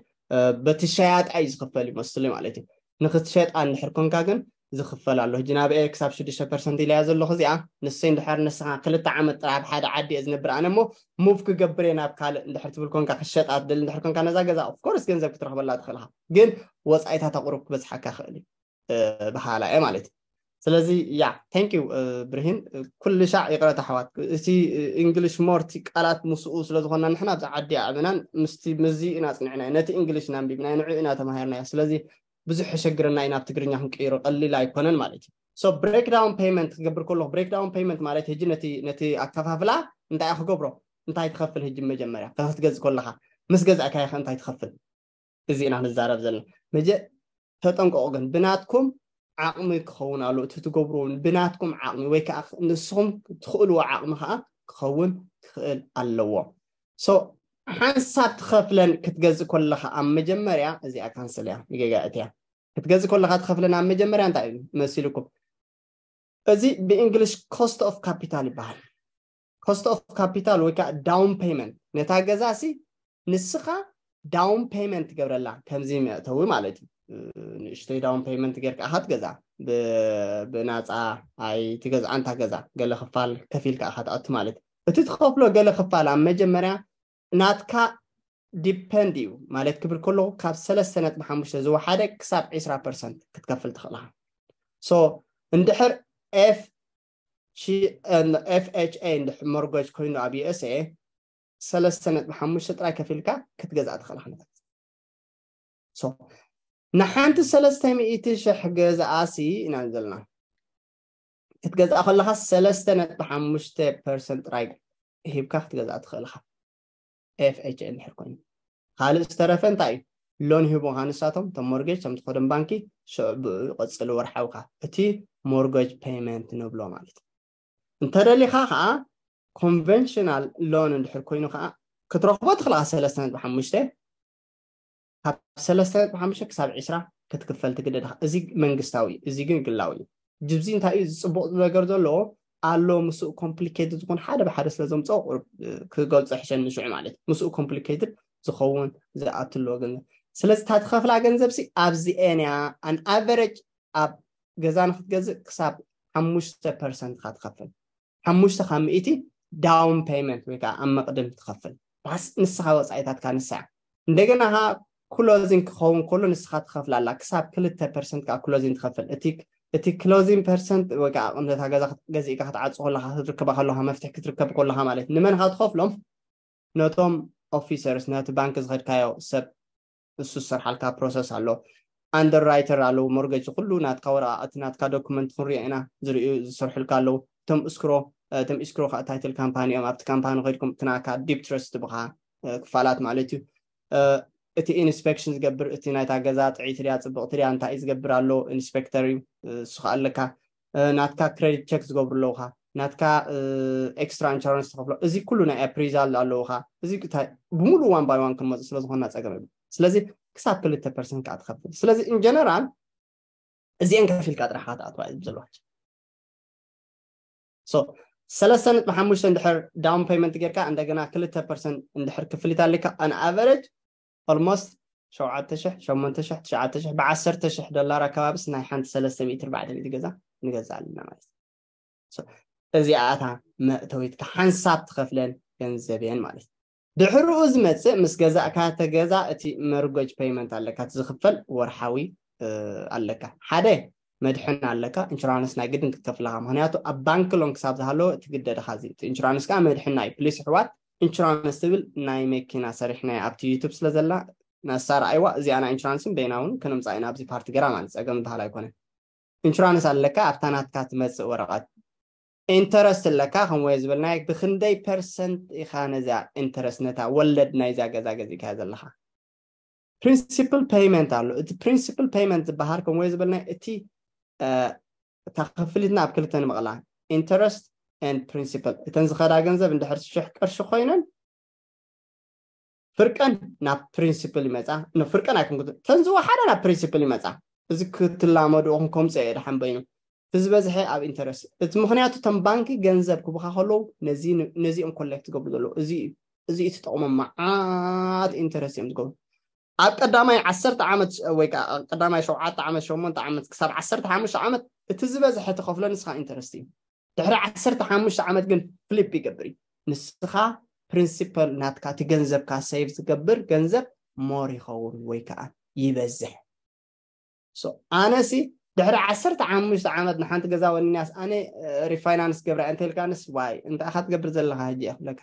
በቲ ሸያጣይ ዝኽፈል ይመስሉ ማለት እዩ። ንክትሸጣ እንድሕር ኮንካ ግን ዝኽፈል ኣሎ። ሕጂ ናብኤ ክሳብ ሽዱሽተ ፐርሰንት ኢለያ ዘለኹ እዚኣ ንሰይ እንድሕር ንስኻ ክልተ ዓመት ጥራይ ኣብ ሓደ ዓዲ እየ ዝነብር ኣነ እሞ ሙቭ ክገብር እየ ናብ ካልእ እንድሕር ትብል ኮንካ ክሸጣ ትደሊ እንድሕር ኮንካ ነዛ ገዛ ኦፍኮርስ ገንዘብ ክትረኽበላ ትኽእልኻ፣ ግን ወፃኢታት ኣቑሩብ ክበዝሓካ ክእል እዩ በሃላ እየ ማለት እዩ። ስለዚ ያ thank you ብርሂን። ኩሉ ሻዕ ይቕረታ ኣሕዋት፣ እቲ እንግሊሽ ሞርቲ ቃላት ምስኡ ስለዝኾና ንሕና ኣብዚ ዓዲ ኣዕብናን ምስቲ ምዚ ኢና ፅንዕና ነቲ እንግሊሽ ናንቢብና ንዑ ኢና ተማሂርናዮ። ስለዚ ብዙሕ የሸግረና እዩ ናብ ትግርኛ ክንቅይሮ ቀሊል ኣይኮነን ማለት እዩ። So breakdown payment ክገብር ከለኹ breakdown payment ማለት ሕጂ ነቲ ነቲ ኣከፋፍላ እንታይ ክገብሮ እንታይ ትኸፍል ሕጂ መጀመርያ ክትገዝእ ከለኻ ምስ ገዛእካዮ እንታይ ትኸፍል እዚ ኢና ንዛረብ ዘለና። መጀ ተጠንቀቑ ግን ብናትኩም ዓቕሚ ክኸውን ኣሎ እቲ ትገብርዎ ብናትኩም ዓቕሚ ወይ ከዓ ንስኹም ትኽእልዎ ዓቕሚ ከዓ ክኸውን ክኽእል ኣለዎ። So ሓንሳብ ትኸፍለን ክትገዝእ ከለኻ ኣብ መጀመርያ እዚኣ ካንስል እያ ንጌጋ እትያ ክትገዝእ ከለኻ ትኸፍለን ኣብ መጀመርያ እንታይ እዩ መሲልኩም እዚ ብእንግሊሽ cost of capital ይበሃል። Cost of capital ወይ ከዓ down payment ነታ ገዛ ሲ ንስኻ down payment ትገብረላ ከምዚ መእተዊ ማለት እዩ። ንእሽተይ down payment ጌርካ ኢኻ ትገዛ ብናፃ ኣይ ትገዝኣ እንታ ገዛ ገለ ክፋል ከፊልካ ኢኻ ትኣቱ ማለት እዩ። እቲ ትኸፍሎ ገለ ክፋል ኣብ መጀመርያ ናትካ depend እዩ ማለት ክብል ከለኹ ካብ ሰለስተ ነጥቢ ሓሙሽተ ዝወሓደ ክሳብ ዕስራ ፐርሰንት ክትከፍል ትኽእል ኢኻ። So እንድሕር FHA እንድሕር mortgage ኮይኑ ኣብ USA ሰለስተ ነጥቢ ሓሙሽተ ጥራይ ከፊልካ ክትገዝኣ ትኽእል ኢኻ። So ንሓንቲ ሰለስተ ሚእቲ ሽሕ ገዛኣሲ ኢና ዘለና ክትገዝኣ ከለኻ ሰለስተ ነጥቢ ሓሙሽተ ፐርሰንት ጥራይ ሂብካ ክትገዝኣ ትኽእል ኢኻ። FHA እንድሕር ኮይኑ ካልእ ዝተረፈ እንታይ እዩ loan ሂቦኻ ንሳቶም እቶም mortgage እቶም ትኸዶም ባንኪ ሽዑ ብኡ ይቐፅል ወርሓውካ እቲ mortgage payment ንብሎ ማለት እዩ። እንተደሊኻ ከዓ conventional loan እንድሕር ኮይኑ ከዓ ክትረኽቦ ትኽእል ኢኻ ሰለስተ ነጥቢ ሓሙሽተ ካብ ሰለስተ ነጥቢ ሓሙሽተ ክሳብ ዕስራ ክትክፈል ትግደድ ኢኻ። እዚ መንግስታዊ እዩ፣ እዚ ግን ግላዊ እዩ። ጅብዚ እንታይ እዩ ዝፅቡቕ ነገር ዘለዎ ኣሎ ምስኡ complicated ዝኾን ሓደ ብሓደ ስለ ዘምፅኦ ቁሩብ ክገልፆ ሕሸኒ ሽዑ ማለት እዩ። ምስኡ complicated ዝኸውን ዝኣትሎ ገንዘብ ስለዚ እታ ትኸፍላ ገንዘብ ሲ ኣብዚኤን እያ። An average ኣብ ገዛ ንክትገዝእ ክሳብ ሓሙሽተ ፐርሰንት ኢኻ ትኸፍል። ሓሙሽተ ካብ ሚእቲ down payment ወይ ከዓ ኣብ መቕድም ትኸፍል ባስ ንስኻ ወፃኢታትካ ንሳ እያ። እንደገና ከዓ closing ክኸውን ከሎ ንስኻ ትኸፍላላ ክሳብ ክልተ ፐርሰንት ከዓ closing ትኸፍል። እቲ እቲ closing ፐርሰንት ወይ ከዓ ቅምነታ ገዛ ገዚእካ ክትዓፁ ከለካ ክትርከባ ከለካ መፍትሒ ክትርከብ ከለካ ማለት ንመን ካ ትኸፍሎም ነቶም officers ነቲ ባንክ ዝኸድካዮ ሰብ እሱ ዝሰርሓልካ process ኣሎ። Underwriter ኣለዉ mortgage ኩሉ ናትካ ወረቃቅቲ ናትካ document ክንሪኦ ኢና ዝርእዩ ዝሰርሑልካ ኣለዉ። እቶም escrow እቶም escrow ከዓ title company እዮም ኣብቲ company ከድኩም እቲ ናካ debtors ትብኻ ክፋላት ማለት እዩ። እቲ inspection ዝገብር እቲ ናይታ ገዛ ጥዕይቲ ድያ ፅብቅቲ ድያ እንታይ እዩ ዝገብር ኣሎ inspector እዩ። እሱ ከዓ ኣለካ ናትካ credit check ዝገብሩ ኣለውካ ናትካ extra insurance ትኸፍሎ እዚ ኩሉ ናይ appraisal ኣለውካ እዚ ብሙሉ one by one ክንመፁ ስለዝኮና ፀገም የብሉ። ስለዚ ክሳብ ክልተ ፐርሰንት ከዓ ትኸፍል ስለዚ in general እዚአን ከፊልካ ጥራሕ ክትኣትዋ እዩ ዘለዋች። ሰለስተ ነጥቢ ሓሙሽተ እንድሕር down payment ጌርካ እንደገና ክልተ ፐርሰንት እንድሕር ክፍሊት ኣሊካ on average almost ሸውዓተ ሽሕ ሸሞንተ ሽሕ ትሽዓተ ሽሕ ብዓሰርተ ሽሕ ዶላር ኣከባቢስ ናይ ሓንቲ ሰለስተ ሚእቲ ኣርባዕተ ሚእቲ ገዛ ንገዛ ኣለና ማለት እዩ። እዚኣታ መእተዊትካ ሓንሳብ ትኸፍለን ገንዘብ እየን ማለት እዩ። ድሕርኡ ዝመፅእ ምስ ገዛእካ ተገዛ እቲ መርጎጅ ፔይመንት ኣለካ እቲ ዝኽፈል ወርሓዊ ኣለካ ሓደ መድሕን ኣለካ ኢንሹራንስ ናይ ግድን ክትከፍልካ ምክንያቱ ኣብ ባንክ ሎን ክሳብ ዝሃለወ ትግደድካ እዚ ኢንሹራንስ ከዓ መድሕና እዩ ፕሊስ ኣሕዋት ኢንሹራንስ ትብል ናይ መኪና ሰሪሕናዮ ኣብቲ ዩቱብ ስለ ዘላ ነሳ ረኣይዋ እዚኣ ናይ ኢንሹራንስን በይና እውን ከነምፃ ኢና ኣብዚ ፓርቲ ገራ ማለት ፀገም ዝበሃል ኣይኮነን ኢንሹራንስ ኣለካ ኣብታ ናትካ ትመፅእ ወረቐት ኢንተረስት ኣለካ ከምወየ ዝበልናዮ ብክንደይ ፐርሰንት ኢካ ነዚኣ ኢንተረስት ነታ ወለድ ናይዚኣ ገዛ ገዚእካያ ዘለካ ፕሪንሲፕል ፔይመንት ኣሎ እቲ ፕሪንሲፕል ፔይመንት ዝበሃል ከምወየ ዝበልናዮ እቲ እታ ክፍሊትና ኣብ ክልተ ንምቕላ ኢንተረስት ኤንድ ፕሪንሲፕል እተን ዝኸዳ ገንዘብ እንድሕር ሽሕ ቅርሺ ኮይነን ፍርቀን ናብ ፕሪንሲፕል ይመፃ ፍርቀን ኣይኮንኩ ተን ዝወሓዳ ናብ ፕሪንሲፕል ይመፃ እዚ ክትላመዱ ኹም ከምፀ እየ ድሓን በይኑ እቲ ዝበዝሐ ኣብ ኢንተረስት እቲ ምክንያቱ እቶም ባንኪ ገንዘብ ክቡካ ከለዉ ነዚኦም ኮሌክት ዝገብሩ ዘለዉ እዚ እዩ ትጠቕሞም መዓት ኢንተረስት እዮም ዝገብሩ ኣብ ቀዳማይ ዓሰርተ ዓመት ወይ ቀዳማይ ሸውዓተ ዓመት ሸሞንተ ዓመት ክሳብ ዓሰርተ ሓሙሽተ ዓመት እቲ ዝበዝሐ ትኸፍሎ ንስኻ ኢንተረስት እዩ ድሕሪ ዓሰርተ ሓሙሽተ ዓመት ግን ፍሊፕ ይገብር እዩ ንስኻ ፕሪንሲፐል ናትካ እቲ ገንዘብካ ሰይቭ ዝገብር ገንዘብ ሞር ይኸውን ወይ ከዓ ይበዝሕ ኣነሲ ድሕሪ ዓሰርተ ሓሙሽተ ዓመት ንሓንቲ ገዛ ወንያስ ኣነ ሪፋይናንስ ገብራ እንተልካንስ ዋይ እንታይ ኢኻ ትገብር ዘለኻ ሕጂ እየ ክብለካ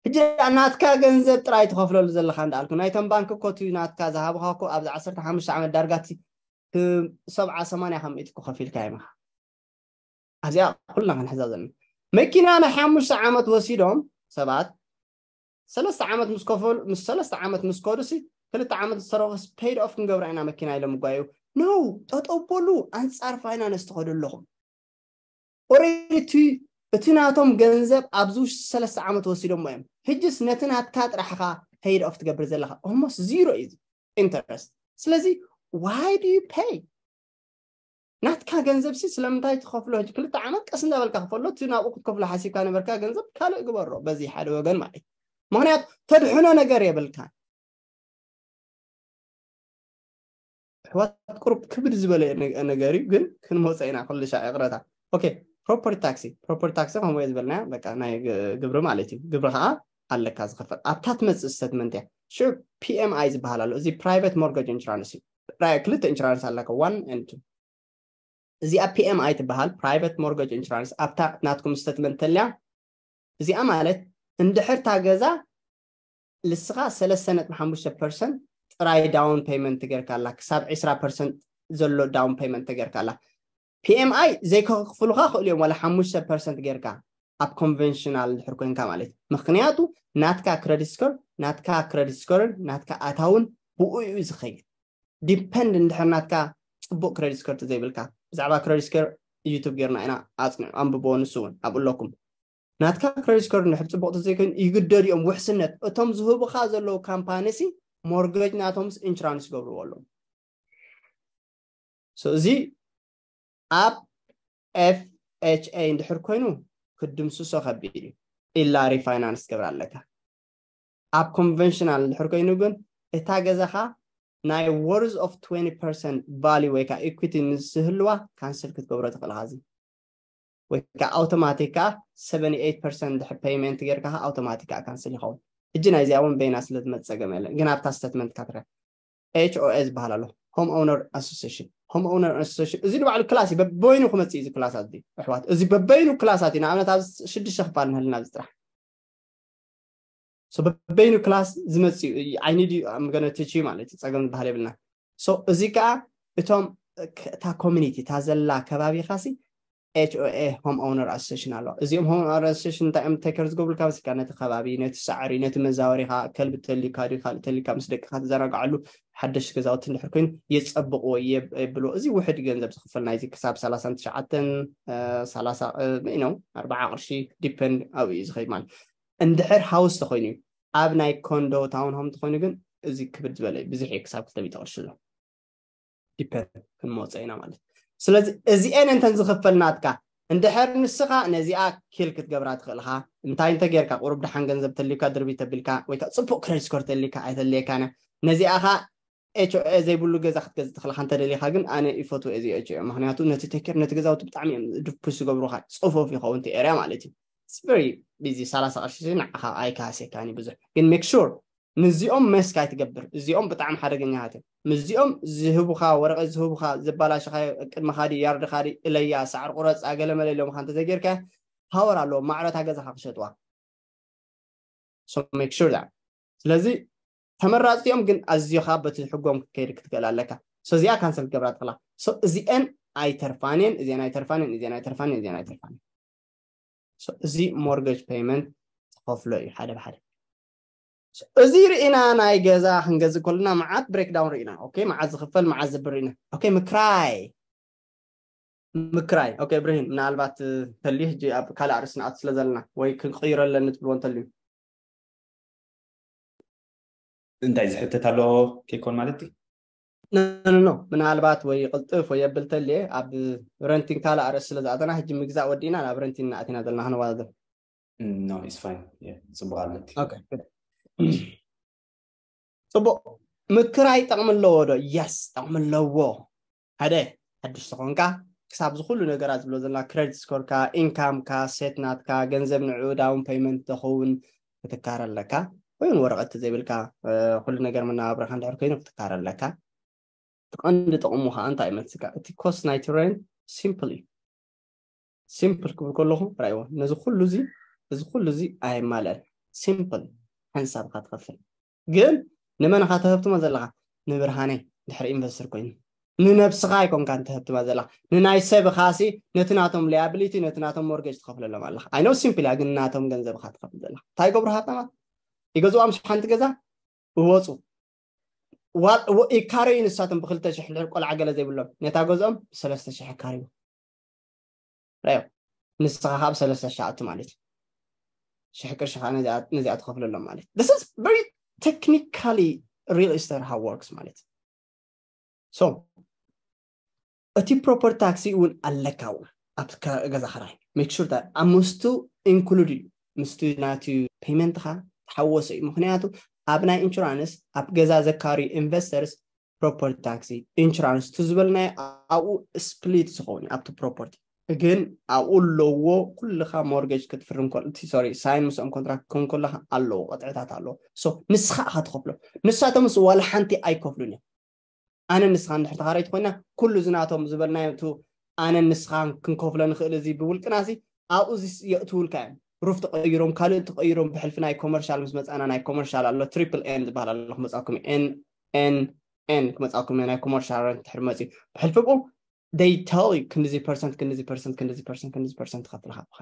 ሕጂ ናትካ ገንዘብ ጥራይ ትኸፍለሉ ዘለኻ እንዳልኩ ናይቶም ባንክ ኮቱ ናትካ ዝሃብኻ እኮ ኣብዚ ዓሰርተ ሓሙሽተ ዓመት ዳርጋቲ ሰብዓ ሰማንያ ካብ ሚእቲ እኮ ከፊልካ ይምኻ ኣብዚኣ ኩልና ክንሕዛ ዘለና መኪና ናይ ሓሙሽተ ዓመት ወሲዶም ሰባት ሰለስተ ዓመት ምስ ከፈሉ ምስ ሰለስተ ዓመት ምስ ከዱሲ ክልተ ዓመት ዝተረፈስ ፔይድ ኦፍ ክንገብራ ኢና መኪና ኢሎም ጓዩ ነው ጠጠው በሉ ኣንፃር ፋይናንስ ትኸዱ ኣለኹም ኦሬዲ እቲ ናቶም ገንዘብ ኣብዚ ውሽጢ ሰለስተ ዓመት ወሲዶሞ እዮም ሕጅስ ነቲ ናትካ ጥራሕኻ ፔይድ ኦፍ ትገብር ዘለኻ ኦልሞስት ዚሮ እዩ ኢንተረስት ስለዚ why do you pay ናትካ ገንዘብ ሲ ስለምንታይ ትኸፍሎ ሕጂ ክልተ ዓመት ቀስ እንዳበልካ ክፈሎ እቲ ናብኡ ክትከፍሎ ሓሲብካ ነበርካ ገንዘብ ካልእ ግበሮ በዚ ሓደ ወገን ማለት ምክንያቱ ተድሕኖ ነገር የብልካ ኣሕዋት ቁሩብ ክብድ ዝበለ ነገር እዩ ግን ክንመፀ ኢና ኩልሻ ይቕረታ ኦኬ ፕሮፐርቲ ታክሲ ፕሮፐርቲ ታክሲ ከምኡ ዝበልና በቃ ናይ ግብሪ ማለት እዩ ግብሪ ከዓ ኣለካ ዝኸፈል ኣብታ ትመፅእ ስተትመንት እያ ሽዑ ፒኤምኣይ ዝበሃል ኣሎ እዚ ፕራይቨት ሞርገጅ ኢንሹራንስ እዩ ክልተ ኢንሹራንስ ኣለካ ዋን ን ቱ እዚኣ ፒኤምኣይ ትበሃል ፕራይቨት ሞርገጅ ኢንሹራንስ ኣብታ ናትኩም ስተትመንት ተልያ እዚኣ ማለት እንድሕር እታ ገዛ ልስኻ ሰለስተ ነጥቢ ሓሙሽተ ፐርሰንት ጥራይ ዳውን ፔመንት ጌርካ ኣላ ክሳብ ዕስራ ፐርሰንት ዘሎ ዳውን ፔመንት ጌርካ ኣላ ፒኤምኣይ ዘይከኽፍሉኻ ክእሉ እዮም ዋላ ሓሙሽተ ፐርሰንት ጌርካ ኣብ ኮንቨንሽናል ድሕር ኮይንካ ማለት እዩ ምክንያቱ ናትካ ክረዲት ስኮር ናትካ ክረዲት ስኮርን ናትካ ኣታውን ብኡ እዩ ዝኸይድ ዲፐንድ እንድሕር ናትካ ፅቡቅ ክረዲት ስኮር ተዘይብልካ ብዛዕባ ክረዲት ስኮር ዩቱብ ጌርና ኢና ኣፅንዑ ኣንብቦ ንሱ እውን ኣብኡ ኣለኩም ናትካ ክረዲት ስኮር እንድሕር ፅቡቅ ተዘይኮይኑ ይግደዱ እዮም ውሕስነት እቶም ዝህቡካ ዘለዉ ካምፓኒሲ ሞርገጅ ናቶምስ ኢንሹራንስ ይገብርዎ ኣለዉ እዚ ኣብ ኤፍኤችኤ እንድሕር ኮይኑ ክድምስሶ ከቢድ እዩ ኢላ ሪፋይናንስ ትገብር ኣለካ ኣብ ኮንቨንሽናል እንድሕር ኮይኑ ግን እታ ገዛኻ ናይ worth of twenty percent value ወይ ከዓ equity ምስ ዝህልዋ ካንስል ክትገብሮ ትኽእል ኻዚ ወይ ከዓ ኣውቶማቲክ ከዓ seventy eight percent ድሕር ፔይመንት ጌርካ ኣውቶማቲክ ከዓ ካንስል ይኸውን ሕጂ ናይዚኣ እውን በይና ስለ ዝመፀገም የለን ግን ኣብታ ስተትመንት ካትረ ኤች ኦ ኤ ዝበሃል ኣሎ home owner association home owner association እዚ ንባዕሉ ክላስ እዩ በበይኑ ክመፅእ እዩ እዚ ክላሳት እዚ ኣሕዋት እዚ በበይኑ ክላሳት እዩ ንኣብነት ኣብ ሽዱሽተ ክፋል ንህልና እዚ ጥራሕ በበይኑ ክላስ ዝመፅእ እዩ ዓይኒ ድዩ ገነትች ማለት እዩ ፀገም ዝበሃል የብልና እዚ ከዓ እቶም እታ ኮሚኒቲ እታ ዘላ ከባቢኻሲ ኤች ኦ ኤ home owner association ኣለዋ እዚኦም home owner association እንታይ እዮም take care ዝገብሩልካ መሲልካ ነቲ ከባቢ ነቲ ሳዕሪ ነቲ መዛወሪኻ ከልቢ ተልዩካ ድዩ ካልእ ተልዩካ ምስ ደቅኻ ትዘናግዓሉ ሓደሽቲ ገዛውቲ እንድሕር ኮይኑ የፀብቅዎ የብልዎ እዚ ውሕድ ገንዘብ ዝኽፈል ናይዚ ክሳብ ሰላሳን ትሽዓተን ሰላሳ ነው ኣርባዓ ቅርሺ ዲፐንድ ኣብኡ እዩ ዝኸይድ ማለት እንድሕር ሃውስ ተኮይኑ እዩ ኣብ ናይ ኮንዶ ታውን ሆም ተኮይኑ ግን እዚ ክብድ ዝበለ ብዙሕ እዩ ክሳብ ክልተ ሚእቲ ቅርሺ ኣሎ ዲፐንድ ክንመፀ ኢና ማለት ስለዚ እዚኤን እንተን ዝኽፈል ናትካ እንድሕር ንስኻ ነዚኣ ኪል ክትገብራ ትኽእልኻ እንታይ እንተ ጌርካ ቁሩብ ደሓን ገንዘብ ተልዩካ ድርቢ ተቢልካ ወይ ከዓ ፅቡቅ ክሬዲት ስኮር ተልዩካ ኣይተልየካነ ነዚኣኻ ኤች ኦ ኤ ዘይብሉ ገዛ ክትገዝእ ትኽእልካ እንተደሊኻ ግን ኣነ ይፈትዎ እዚ ኤች ኦ ኤ ምክንያቱ ነቲ ቴኬር ነቲ ገዛውቲ ብጣዕሚ እዮም ድፑሽ ዝገብሩኻ ፅፉፍ ይኸውን እቲ ኤርያ ማለት እዩ very busy ሰላሳ ቅርሺ ንዓኻ ኣይካሃሴካኒ ብዙሕ ግን make sure ምስዚኦም መስክ ኣይትገብር እዚኦም ብጣዕሚ ሓደገኛታት እዮም ምስዚኦም ዝህቡኻ ወረቐት ዝህቡኻ ዘባላሽኻዮ ቅድሚ ካዲ ያርድ ካዲ እለያ ሳዕር ቁረፃ ገለመለ ኢሎምኻ እንተዘይጌርካ ፓወር ኣለዎም ማዕረታ ገዛኻ ክሸጥዋ so make sure that ስለዚ ተመራፅቲ እዮም ግን ኣዝዮኻ በቲ ሕጎም ክትከይድ ክትክእል ኣለካ so እዚኣ ካንሰል ክትገብራ ትኽእላ so እዚአን ኣይተርፋንን እዚአን ኣይተርፋንን እዚአን ኣይተርፋንን እዚአን ኣይተርፋንን እዚ ሞርገጅ ፔይመንት ትኸፍሎ እዩ ሓደ ብሓደ እዚ ርኢና ናይ ገዛ ክንገዝእ ከለና መዓት ብሬክዳውን ርኢና ኦኬ መዓት ዝኽፈል መዓት ዝብር ርኢና ኦኬ ምክራይ ምክራይ ኦኬ ብርሂን ምናልባት ተልዩ ሕጂ ኣብ ካልእ ኣርእስቲ ንኣቱ ስለ ዘለና ወይ ክንቅይሮ ኣለኒ ትብልዎ እንተልዩ እንታይ ዝሕተት ኣሎ ከይኮን ማለት እዩ ኖ ኖ ኖ ምናልባት ወይ ቅልጥፍ ወይ የብል ተልየ ኣብ ረንቲን ካልእ ኣርእስቲ ስለ ዝኣተና ሕጂ ምግዛእ ወዲእና ናብ ረንቲን እናኣቲና ዘለና ክንወዳደር No, it's fine. Yeah, ጽቡቅ ኣለኪ። Okay, good. ጽቡቅ። ምክራይ ጠቕሚ ኣለዎ ዶ? የስ፣ ጠቕሚ ኣለዎ። ሓደ ሓድሽ ዝኾንካ ክሳብ እዚ ኩሉ ነገራት ዝብሎ ዘለና ክሬዲት ስኮርካ፣ ኢንካምካ፣ ሴት ናትካ፣ ገንዘብ ንዕኡ ዳውን ፔይመንት ተኸውን ክትካረ ኣለካ። ወይ እውን ወረቐት ዘይብልካ እ፣ ኩሉ ነገር መነባብሮኻ እንድሕር ኮይኑ ክትካረ ኣለካ። እቲ ቀንዲ ጥቕሙ ከዓ እንታይ ይመስልካ? እቲ ኮስት ናይቲ ሬንት ሲምፕል እዩ። ሲምፕል ክብል ከለኹ ራይዎ ነዚ ኩሉ እዚ እዚ ኩሉ እዚ ኣየማልአን። ሲምፕል ሓንሳብካ ትኸፍል። ግን ንመንኻ ተህብትሞ ዘለኻ? ንብርሃነይ ድሕሪ ኢንቨስተር ኮይኑ ንነብስኻ ኣይኮንካን ተህብትማ ዘለኻ። ንናይ ሰብ ኻሲ ነቲ ናቶም ሊያብሊቲ ነቲ ናቶም ሞርጌጅ ትኸፍለሎም ኣለኻ። ኣይ ኖ ሲምፕል እያ፣ ግን ናቶም ገንዘብኻ ትኸፍል ዘለኻ። እንታይ ይገብሩ ሃብታማት? ይገዝኦም ሓንቲ ገዛ ይወፁ። ዋ- ወ- ይካረዩ ንሳቶም ብክልተ ሽሕ ልዕል ቆልዓ ገለ ዘይብሎም ነታ ገዝኦም ብሰለስተ ሽሕ ይካረዩ። ራዮ ንስኻ ካብ ሰለስተ ሽሕ ኣቱ ማለት እዩ። ሽሕ ቅርሺ ከዓ ነዚኣ ነዚኣ ትኸፍለሎም ማለት እዩ። This is very technically real estate how works ማለት እዩ። So እቲ ፕሮፐርቲ ታክሲ እውን ኣለካ እውን ኣብ ከ- ገዛ ክራይ make sure that ኣብ ምስቱ ኢንክሉድ እዩ፣ ምስቱ ናቲ ፔይመንትኻ ተሓወሰ እዩ። ምክንያቱ ኣብ ናይ ኢንሹራንስ ኣብ ገዛ ዘካርዩ ኢንቨስተርስ ፕሮፐርቲ ታክሲ ኢንሹራንስ ቱ ዝበልናዮ ኣብኡ ስፕሊት ዝኸውን እዩ ኣብቲ ፕሮፐርቲ። ግን ኣብኡ ኣለዎ ኩልኻ ሞርጌጅ ክትፍርም ከሎ እቲ ሶሪ ሳይን ምስኦም ኮንትራክት ክኸውን ከለኻ ኣለዎ ቅጥዕታት ኣለዎ። So ንስኻ ኢኻ ትኸፍሎ፣ ንሳቶምስ ዋላ ሓንቲ ኣይከፍሉን እዮም። ኣነ ንስኻ እንድሕር ተኻራይቲ ኮይና ኩሉ ዝናቶም ዝበልናዮ እቲ ኣነ ንስኻን ክንከፍሎ ንኽእል እዚ ብውልቅናሲ ኣብኡ እዚ የእትውልካ እዮም። ሩፍ ተቐይሮም ካልእ ተቐይሮም ብሕልፊ ናይ ኮመርሻል ምስ መፃና ናይ ኮመርሻል ኣሎ ትሪፕል ኤን ዝበሃል ኣሎ ክመፃኩም ኤን ኤን ኤን ክመፃኩም ናይ ኮመርሻል ረንት ድሕር መፅዩ ብሕልፊ ብኡ they tell you ክንድዚ ፐርሰንት ክንድዚ ፐርሰንት ክንድዚ ፐርሰንት ክንድዚ ፐርሰንት ትኸፍልካ ብኻ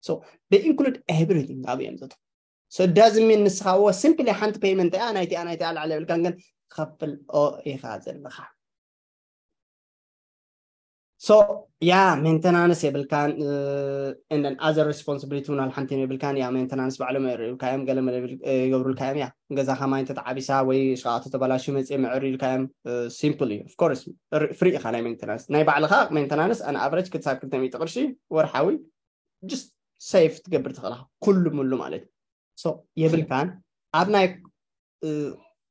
so they include everything ኣብ እዮም ዘቶ so doesn't mean ንስኻ ወ simply ሓንቲ ፔይመንት እያ ናይቲኣ ናይቲኣ ላዕለ የብልካን ግን ትኸፍል ኦ ኢኻ ዘለኻ so yeah maintenance የብልካን and then other responsibility እውን ሓንቲ የብልካን yeah maintenance ባዕሎም የርእዩልካ እዮም ገለ መለ ይገብሩልካ እዮም yeah ገዛኻ ማይ እንተተዓቢሳ ወይ ሸቃቶ ተባላሽዩ መፅእ መዕር ኢልካ እዮም simple እዩ of course free ኢኻ ናይ maintenance ናይ ባዕልኻ maintenance an average ክሳብ ክልተ ሚእቲ ቅርሺ ወርሓዊ just save ትገብር ትኽእልኻ ኩሉ ሙሉ ማለት እዩ so የብልካን ኣብ ናይ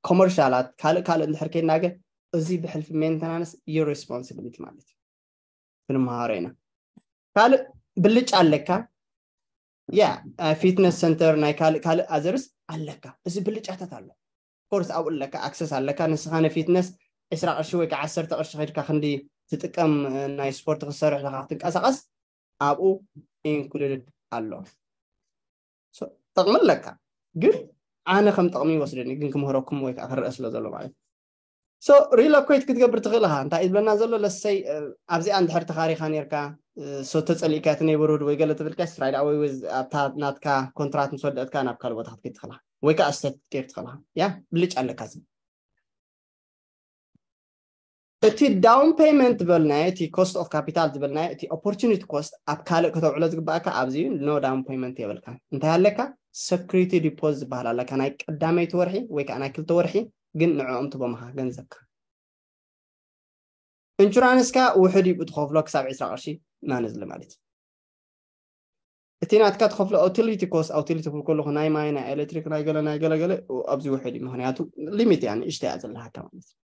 ኮመርሻላት ካልእ ካልእ እንድሕር ከይድና ግን እዚ ብሕልፊ maintenance your responsibility ማለት እዩ ክንመሃሮ ኢና ካልእ ብልጫ ኣለካ yeah fitness center ናይ ካልእ ካልእ others ኣለካ እዚ ብልጫታት ኣሎ course ኣብኡ ኣለካ access ኣለካ ንስኻ ን fitness ዕስራ ቅርሺ ወይ ከዓ ዓሰርተ ቅርሺ ከድካ ክንዲ ትጥቀም ናይ ስፖርት ክትሰርሕ ኢኻ ክትንቀሳቐስ ኣብኡ included ኣሎ so ጠቕሚ ኣለካ ግን ኣነ ከም ጠቕሚ ይወስደኒ ግን ክምህረኩም ወይ ከዓ ክረአ ስለ ዘሎ ማለት so relocate ክትገብር ትኽእል ኢኻ እንታይ ዝብለና ዘሎ let's say ኣብዚኣ እንድሕር ተኻሪኻ ነርካ so ተፀሊእካ እቲ neighborhood ወይ ገለ ትብልካ right away ኣብታ ናትካ ኮንትራት ምስ ወደእትካ ናብ ካልእ ቦታ ክትከይድ ትኽእል ወይ ከዓ state ክትከይድ ትኽእል ያ ብልጫ ኣለካ እቲ down payment ዝበልናዮ እቲ cost of capital ዝበልናዮ እቲ opportunity cost ኣብ ካልእ ከተውዕሎ ዝግባእካ ኣብዚ no down payment የብልካ እንታይ ኣለካ security deposit ዝበሃል ኣለካ ናይ ቀዳመይቲ ወርሒ ወይ ከዓ ናይ ክልተ ወርሒ ግን ንዕኦም ትቦምኻ ገንዘብካ ኢንሹራንስካ ውሕድ እዩ ትኸፍሎ ክሳብ ዕስራ ቅርሺ ማነዝሊ ማለት እዩ እቲ ናትካ ትኸፍሎ utility cost utility ክብል ከለኹ ናይ ማይ ናይ ኤሌክትሪክ ናይ ገለ ናይ ገለ ገለ ኣብዚ ውሕድ እዩ ምክንያቱ limit እያ ንእሽተ እያ ዘለሃካ ማለት እዩ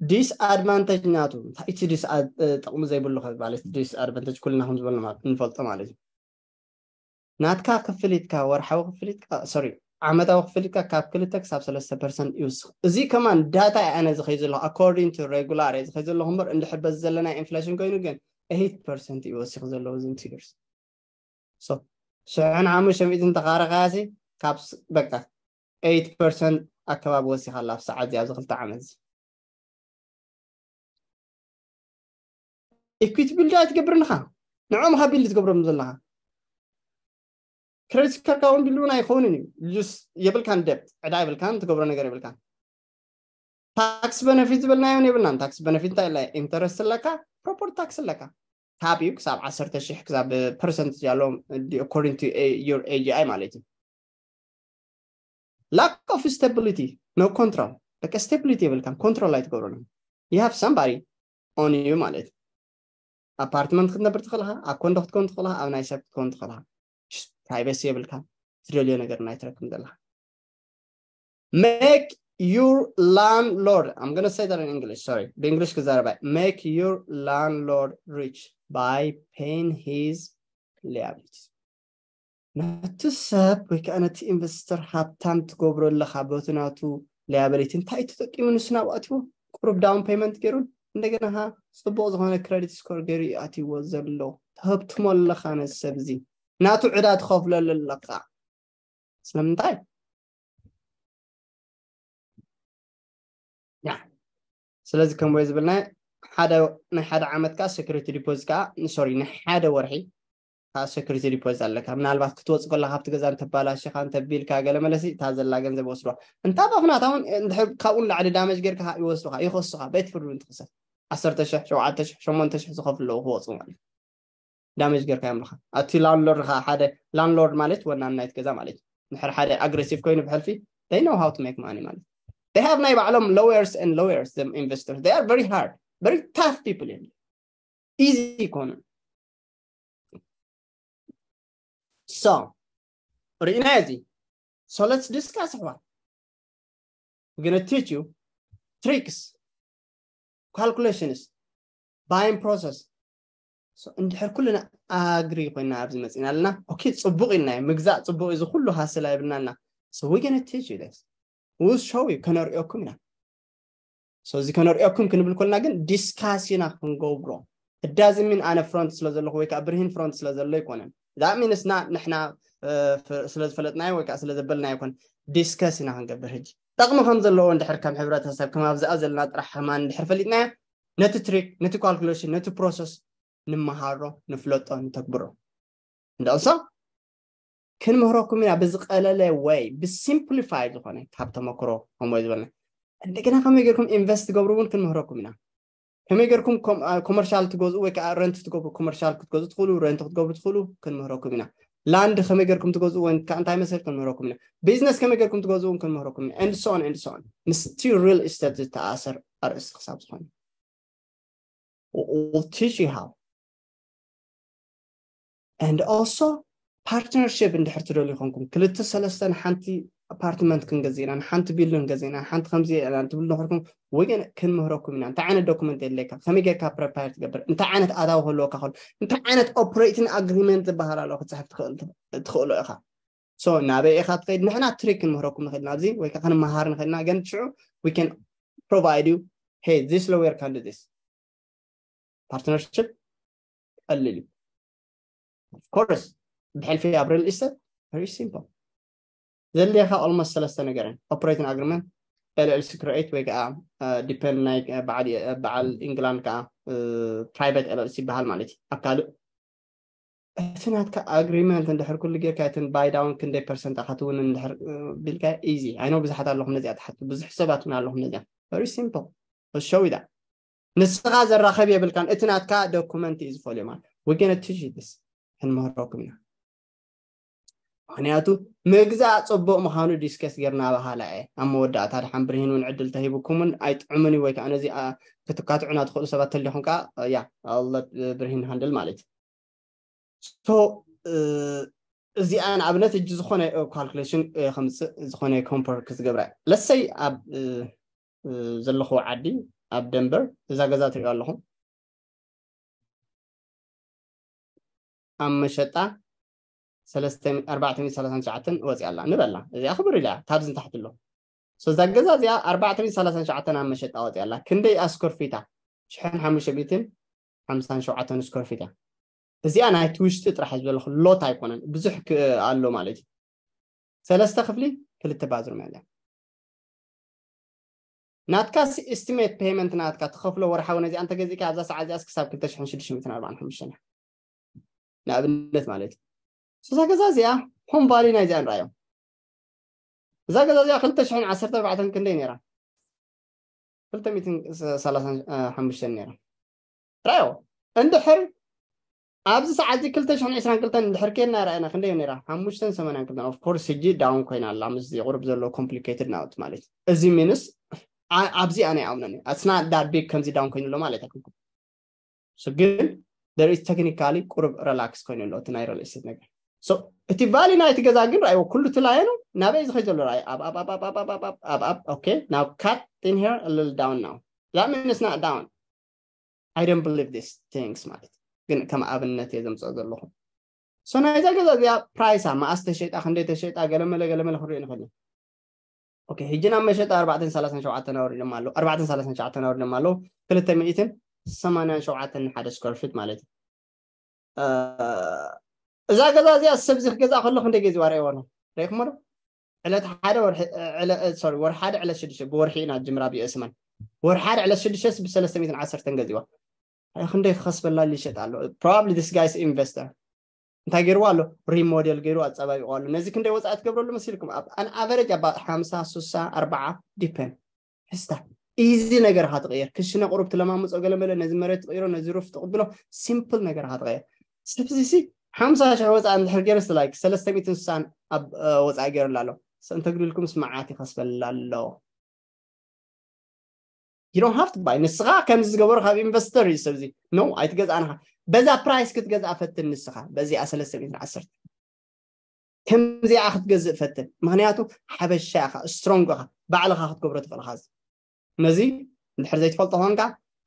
disadvantage ናቱ እንታይ እቲ ጥቕሚ ዘይብሉ ማለት disadvantage ኩልና ከም ዝበልና ንፈልጦ ማለት እዩ ናትካ ክፍሊትካ ወርሓዊ ክፍሊትካ sorry ዓመታዊ ክፍሊትካ ካብ ክልተ ክሳብ ሰለስተ ፐርሰንት ይውስኽ እዚ ከማን data እየ ኣነ ዝኸይ ዘለኹ according to regular እየ ዝኸይ ዘለኹ እምበር እንድሕር በዚ ዘለና inflation ኮይኑ ግን eight percent እዩ ወሲኹ ዘለዎ እዚ two years so ሽሕን ሓሙሽተ ሚእትን ተኻረኻያሲ ካብ በቃ eight percent ኣከባቢ ወሲኻ ኣላ ኣብ ሰዓት እዚ ኣብዚ ክልተ ዓመት እዚ equity build ኣይትገብርን ኢኻ ንዕኦም ኢኻ build ትገብሮም ዘለኻ credit card ካ እውን build እውን ኣይኸውንን እዩ just የብልካን debt ዕዳ የብልካን ትገብሮ ነገር የብልካን tax benefit ዝበልናዮ እውን የብልናን tax benefit እንታይ ኢለ interest ኣለካ property tax ኣለካ ካብ እዩ ክሳብ ዓሰርተ ሽሕ ክሳብ percent ያለዎም according to your A G I ማለት እዩ lack of stability no control በቃ stability የብልካን፣ control ኣይትገብረሉን። You have somebody on you ማለት እዩ። Apartment ክትነብር ትኽእልኻ፣ ኣብ condo ክትከውን ትኽእልኻ፣ ኣብ ናይ ሰብ ክትከውን ትኽእልኻ። Privacy የብልካን፣ ትደልዮ ነገር ናይ ትረክብ ዘለኻ። Make your landlord, I'm gonna say that in English, sorry, ብእንግሊሽ ክዛረባ። Make your landlord rich by paying his liabilities. ነቲ ሰብ ወይ ከዓ ነቲ ኢንቨስተር ሃብታም ትገብሮ ኣለኻ፣ በቲ ናቱ liability እንታይ ተጠቂሙ ንሱ ናብ ኣትዎ፣ ቁሩብ down payment ገይሩ፣ እንደገና ኸዓ ጽቡቕ ዝኾነ credit score ገይሩ እዩ ኣትዎ ዘሎ። ተህብትሞ ኣለኻ ነዚ ሰብ እዚ፣ ናቱ ዕዳ ትኸፍለሉ ኣለኻ። ስለምንታይ? ያ ስለዚ ከምኡ ዝብልና ሓደ ናይ ሓደ ዓመት ከዓ security deposit ከዓ፣ sorry፣ ናይ ሓደ ወርሒ ከዓ security deposit ኣለካ። ምናልባት ክትወፅእ ከላ ካብቲ ገዛ እንተባላሽኻ እንተቢልካ ገለ መለሲ እታ ዘላ ገንዘብ ይወስድዋ። እንታ ባፍናታ እውን እንድሕር ካብኡ ንላዕሊ damage ጌርካ ይወስዱኻ፣ ይኸሱኻ፣ ቤት ፍርዲ እውን ትኽሰስ። ዓሰርተ ሺሕ፣ ሸውዓተ ሺሕ፣ ሸሞንተ ሺሕ ዝኸፍሉ ኣለዉ ክወፁ ማለት እዩ። Damage ጌርካ እዮም ለኻ። ኣቲ landlord ኻ ሓደ፣ landlord ማለት ወናን ናይቲ ገዛ ማለት እዩ። ንድሕር ሓደ aggressive ኮይኑ ብሕልፊ they know how to make money ማለት እዩ። They have ናይ ባዕሎም lawyers and lawyers, them investors, they are very hard, very tough people እዮም። Easy ኣይኮኑን። So ርኢና እዚ። So let's discuss ኣሕዋት። We're gonna teach you tricks, calculations, buying process. So እንድሕር ኩልና agree ኮይና ኣብዚ መፂና ኣለና፣ okay፣ ፅቡቕ ኢልናዮ፣ ምግዛእ ፅቡቕ እዩ፣ እዚ ኩሉ hustle ኣይብልና ኣለና። So we're gonna teach you this. We'll show you፣ ከነርእየኩም ኢና። So እዚ ከነርእየኩም ክንብል ኮልና ግን discuss ኢና ክንገብሮ። It doesn't mean ኣነ front ስለ ዘለኹ ወይ ከዓ ብርሂን front ስለ ዘሎ ኣይኮነን። That means not ንሕና ስለ ዝፈለጥናዮ ወይ ከዓ ስለ ዘበልናዮ ኣይኮነን። Discuss ኢና ክንገብር። ሕጂ ጠቕሚ ከም ዘለዎ እንድሕር ከም ሕብረተሰብ፣ ከም ኣብዚኣ ዘለና ጥራሕ ከማን እንድሕር ፈሊጥናዮ፣ ነቲ trick፣ ነቲ calculation፣ ነቲ process ንመሃሮ፣ ንፍለጦ፣ ንተግብሮ። And also ክንምህረኩም ኢና ብዝቀለለ ወይ ብsimplify ዝኾነ ካብ ተመክሮ ከምኡ ዝበልና። እንደገና ከመይ ጌርኩም invest ትገብሩ እውን ክንምህረኩም ኢና። ከመይ ጌርኩም commercial ትገዝኡ ወይ ከዓ rent ትገብሩ፣ commercial ክትገዝኡ ትኽእሉ፣ rent ክትገብሩ ትኽእሉ፣ ክንምህረኩም ኢና። Land ከመይ ጌርኩም ትገዝኡ ወይ ከዓ እንታይ መሰል ክንምህረኩም ኢና። Business ከመይ ጌርኩም ትገዝኡ እውን ክንምህረኩም ኢና። And so on and so on። ምስቲ real estate ዝተኣሰር ኣርእስቲ ክሳብ ዝኾነ። We'll teach you how. And also partnership እንድሕር ትደልዩ ኮንኩም፣ ክልተ ሰለስተ ንሓንቲ apartment ክንገዝእ ኢና፣ ንሓንቲ building ክንገዝእ ኢና፣ ንሓንቲ ከምዚ ኢና ትብሉ ነኸርኩም፣ ወገን ክንምህረኩም ኢና። እንታይ ዓይነት document የድልየካ፣ ከመይ ጌርካ prepare ትገብር፣ እንታይ ዓይነት ኣታዊ ክህልወካ ከሎ፣ እንታይ ዓይነት operating agreement ዝበሃል ኣሎ ክትፅሕፍ ትኽእል፣ ትኽእሎ ኢኻ። So ናበይ ኢኻ ትኸይድ? ንሕና trick ክንምህረኩም ንኽእል ኢና ኣብዚ፣ ወይ ከዓ ክንመሃር ንኽእል ኢና፣ ግን ሽዑ we can provide you, hey, this lawyer can do this. Partnership ቀሊል እዩ። Of course ብሕልፊ ኣብ real estate very simple። ዘድልየካ almost ሰለስተ ነገር እየን። Operating agreement፣ LLC create ወይ ከዓ depend ናይ በዓል England ከዓ private LLC ይበሃል ማለት እዩ። ኣብ ካልእ እቲ ናትካ agreement እንድሕር ኩሉ ጌርካ፣ እትን buy down ክንደይ percent ኢኻ ትውን እንድሕር ቢልካ፣ easy። I know ብዙሓት ኣለኹም ነዚኣ ትሓቱ፣ ብዙሕ ሰባት እውን ኣለኹም ነዚኣ። Very simple. I'll show you that. ንስኻ ዘራኸብ የብልካን፣ እቲ ናትካ document እዩ ዝፈልዮ ማለት። We're gonna teach you this. ክንምህረኩም ኢና። ምኽንያቱ ምግዛእ ፅቡቕ ምዃኑ discuss ጌርና በሃላ እየ። ኣብ መወዳእታ ድሓን ብርሂን እውን ዕድል ተሂቡኩም እውን ኣይጥዕሙን እዩ ወይ ከዓ ነዚ ክትካትዑና ትኽእሉ ሰባት ተሊኹም ከዓ፣ ያ፣ I'll let ብርሂን handle ማለት እዩ። So እዚኣ ንኣብነት ሕጂ ዝኾነ calculation ከምፅእ፣ ዝኾነ compare ክዝገብራ። Let's say ኣብ ዘለኹ ዓዲ ኣብ ደንበር እዛ ገዛ ትሪኦ ኣለኹም ኣብ መሸጣ ኣርባዕተ ሚእቲ ሰላሳን ትሽዓተን ወፂኣ ኣላ ንበላ። እዚኣ ክብር ኢላ ካብዚ ንታሕቲ ኣሎ። So እዛ ገዛ እዚኣ ኣርባዕተ ሚእቲ ሰላሳን ትሽዓተን ኣብ መሸጣ ወፂኣ ኣላ። ክንደይ square feet እያ? ሽሕን ሓሙሽተ ሚእትን ሓምሳን ሸውዓተን square feet እያ። እዚኣ ናይቲ ውሽጢ ጥራሕ ዝበለኹ lot ኣይኮነን፣ ብዙሕ ኣሎ ማለት እዩ። ሰለስተ ክፍሊ፣ ክልተ bathroom እያ። ናትካ estimate payment ናትካ ትኸፍሎ ወርሓዊ ነዚኣ እንተገዚእካ ኣብዛ ሰዓት እዚኣ ክሳብ ክልተ ሽሕን ሽዱሽተ ሚእትን ኣርባዓን ሓሙሽተን እያ፣ ንኣብነት ማለት እዩ። እዛ ገዛ እዚኣ home value ናይ እዚኣ ንርኣዮ። እዛ ገዛ እዚኣ ክልተ ሽሕን ዓሰርተ ኣርባዕተን ክንደይ ነይራ? ክልተ ሚእትን ሰላሳን ሓሙሽተን ነይራ። ራዮ እንድሕር ኣብዚ ሰዓት እዚ ክልተ ሽሕን ዕስራን ክልተን እንድሕር ኬድና ረኣና ክንደይ ነይራ? ሓሙሽተን ሰማንያን ክልተን። Of course ሕጂ down ኮይና ኣላ፣ ምስዚ ቁሩብ ዘሎ complicated ናውቲ ማለት እዩ። እዚ means ኣብዚ ኣነ ይኣምነኒ ኣስና ዳር ቢግ ከምዚ ዳውን ኮይኑ ኣሎ ማለት ኣይኮንኩም። So ግን there is technically ቁሩብ relax ኮይኑ ኣሎ እቲ ናይ real estate ነገር። So እቲ value ናይቲ ገዛ ግን ራእይዎ ኩሉ እቲ line ኡ ናበይ ዝኸይ ዘሎ ራእይ ኣብ ኣብ ኣብ ኣብ ኣብ ኣብ ኣብ ኣብ okay now cut in here a little down now that means not down I don't believe this things ማለት ግን ከም ኣብነት እየ ዘምፅኦ ዘለኹ። So ናይዛ ገዛ እዚኣ price ኣ መኣስ ተሸጣ ክንደይ ተሸጣ ገለመለ ገለመለ ክንሪኦ ንኽእል ኢና። Okay ሕጂ ናብ መሸጣ ኣርባዕተን ሰላሳን ሸውዓተን ኣውሪዶም ኣለዉ ኣርባዕተን ሰላሳን ሸውዓተን ኣውሪዶም ኣለዉ ክልተ ሚእትን ሰማንያን ሸውዓተን ንሓደ square feet ማለት እዩ። እዛ ገዛ እዚኣ ሰብ እዚ ክገዝኣ ከሎ ክንደይ ገዚዋ ርእይዎ ኣሎ ርእኹሞ ዶ? ዕለት ሓደ ወርሒ ሓደ ዕለት ሽዱሽተ ብወርሒ ኢና ጅምራ ብየስማን ወርሒ ሓደ ዕለት ሽዱሽተ ብሰለስተ ሚእትን ዓሰርተን ገዚዋ። ክንደይ ክኸስበላ ይሸጥ ኣሎ። Probably this guy is investor እንታይ ገይርዋ ኣሎ remodel ገይሩ ኣፀባቢቑ ኣሎ። ነዚ ክንደይ ወፃኢ ትገብረሉ መሲልኩም ኣብ an average ኣባ ሓምሳ ሱሳ ኣርባዓ depend ሕስታ easy ነገር ኢኻ ትቕየር። ክሽነ ቁሩብ ትለማምፆ ገለመለ ነዚ መሬት ትቕይሮ ነዚ roof ትቕብሎ simple ነገር ኢኻ ትቕየር። ሰብዚ ሲ ሓምሳ ሽሕ ወፃኢ እንድሕር ገይርስ like ሰለስተ ሚእትን ሱሳን ኣብ ወፃኢ ገይሩላ ኣሎ። እንተግድልኩምስ መዓት ይኸስበላ ኣሎ። You don't have to buy ንስኻ ከምዚ ዝገበሩ ካብ ኢንቨስተር እዩ ሰብዚ no ኣይትገዝኣንኻ። በዛ price ክትገዝኣ ፈትን ንስኻ በዚኣ ሰለስተ ሚእትን ዓሰርተ ከምዚኣ ክትገዝእ ፈትን ምክንያቱ ሓበሻ ኢኻ strong ኢኻ ባዕልኻ ክትገብሮ ትኽእል ኢኻ። ነዚ እንድሕር ዘይትፈልጦ ኮንካ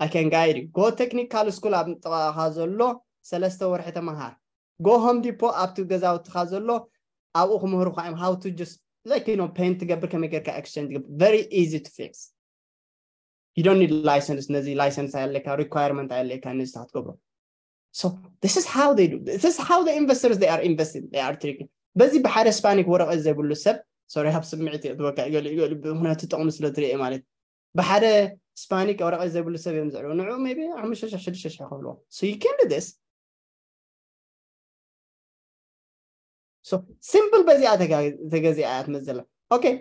I can guide you go technical school ኣብ ጥቓኻ ዘሎ ሰለስተ ወርሒ ተመሃር። Go Home Depot ኣብቲ ገዛውትኻ ዘሎ ኣብኡ ክምህሩኻ እዮም how to just like you know paint ትገብር ከመይ ጌርካ exchange ትገብር very easy to fix. You don't need license ነዚ license ኣየለካ requirement ኣየለካ ነዚ ክትገብሮ። So this is how they do this is how the investors they are investing they are tricking በዚ ብሓደ ስፓኒክ ወረቐት ዘይብሉ ሰብ sorry ሃብ ስምዒት እየ ትበካ ገሊኡ ገሊኡ ብምክንያቱ ጥቕሚ ስለ ትሪኦ ማለት ብሓደ ስፓኒክ ወረቐት ዘይብሉ ሰብ እዮም ዝዕልዎ ንዕኡ maybe ሓሙሽተ ሽሕ ሽዱሽተ ሽሕ ከፍልዎ so you can do this so simple በዚኣ ተገዚኣ እያ ትመዘላ okay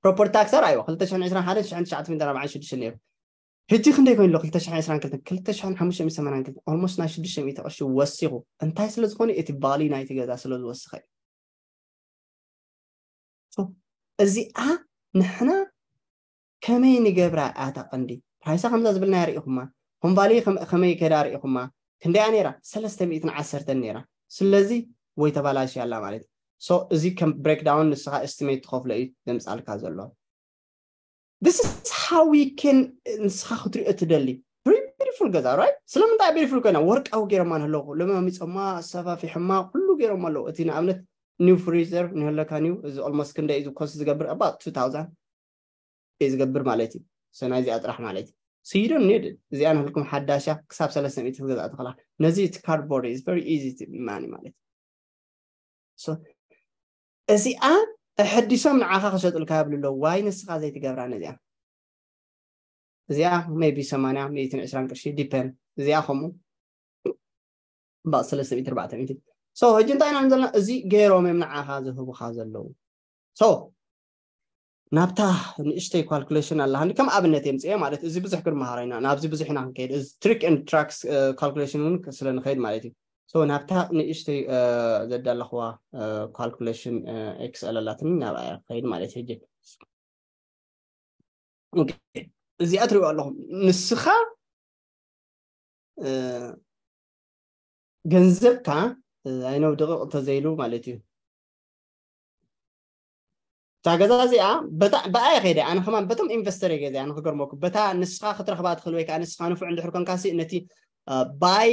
property tax ራእይዋ ክልተ ሽሕን ዕስራን ሓደን ሽሕን ትሽዓተ ሚእትን ኣርባዓን ሽዱሽተን ነይሩ ሕጂ ክንደይ ኮይኑ ኣሎ ክልተ ሽሕን ዕስራን ክልተን ክልተ ሽሕን ሓሙሽተ ሚእትን ሰማንያን ክልተን almost ናይ ሽዱሽተ ሚእቲ ቅርሺ ወሲኹ እንታይ ስለ ዝኾነ እቲ value ናይቲ ገዛ ስለ ዝወስኸ እዩ እዚኣ ንሕና ከመይ ንገብራ ኣታ ቀንዲ price ኣ ከምዛ ዝብልናያ ርኢኹማ home value ከመይ ከዳ ርኢኹማ ክንደያ ነይራ ሰለስተ ሚእትን ዓሰርተን ነይራ ስለዚ ወይ ተባላሽያ ኣላ ማለት እዩ so እዚ ከም breakdown ንስኻ estimate ትኸፍሎ እዩ ዘምፃልካ ዘሎ this is how we can ንስኻ ክትሪኦ ትደሊ very beautiful ገዛ right ስለምንታይ beautiful ኮይና ወርቃዊ ገይሮማ ንህለኹ ለማሚፆማ ኣሰፋፊሖማ ኩሉ ገይሮማ ኣለዉ እቲ ንኣብነት new freezer ንህለካ new እዚ almost ክንደይ እዚ cost ዝገብር about two thousand ዝገብር ማለት እዩ so ናይዚኣ ጥራሕ ማለት እዩ so you don't need it እዚኣ ንህልኩም ሓዳሻ ክሳብ ሰለስተ ሚእቲ ክትገዝኣ ትኽእላ ነዚ እቲ cardboard is very easy to money ማለት እዩ እዚኣ ኣሐዲሶም ንዓኻ ክሸጡልካ ይብሉ ኣለዉ ዋይ ንስኻ ዘይትገብራ ነዚኣ እዚኣ maybe ሰማንያ ሚእትን ዕስራን ቅርሺ depend እዚኣ ከምኡ about ሰለስተ ሚእቲ ኣርባዕተ ሚእቲ so ሕጂ እንታይ ኢና ዘለና እዚ ገይሮም እዮም ንዓኻ ዝህቡኻ ዘለዉ so ናብታ ንእሽተይ calculation ኣላ ሃኒ ከም ኣብነት የምፅኤ ማለት እዚ ብዙሕ ክንመሃሮ ኢና ናብዚ ብዙሕ ኢና ክንከይድ እዚ trick and tracks calculation እውን ስለ ንኸይድ ማለት እዩ so ናብታ ንእሽተይ ዘዳለኽዋ calculation excel ኣላትኒ ናብኣ ክኸይድ ማለት ሕጂ እዚኣ ትሪኦ ኣለኹም ንስኻ ገንዘብካ I know ደቂቕ እንተዘይሉ ማለት እዩ እታ ገዛ እዚኣ ብኣየ ከይደ ኣነ ከማን በቶም ኢንቨስተር እየ ገዚኣ ንክገርመኩም በታ ንስኻ ክትረኽባ ትኽእል ወይ ከዓ ንስኻ ንፉዕ እንድሕር ኮንካሲ ነቲ buy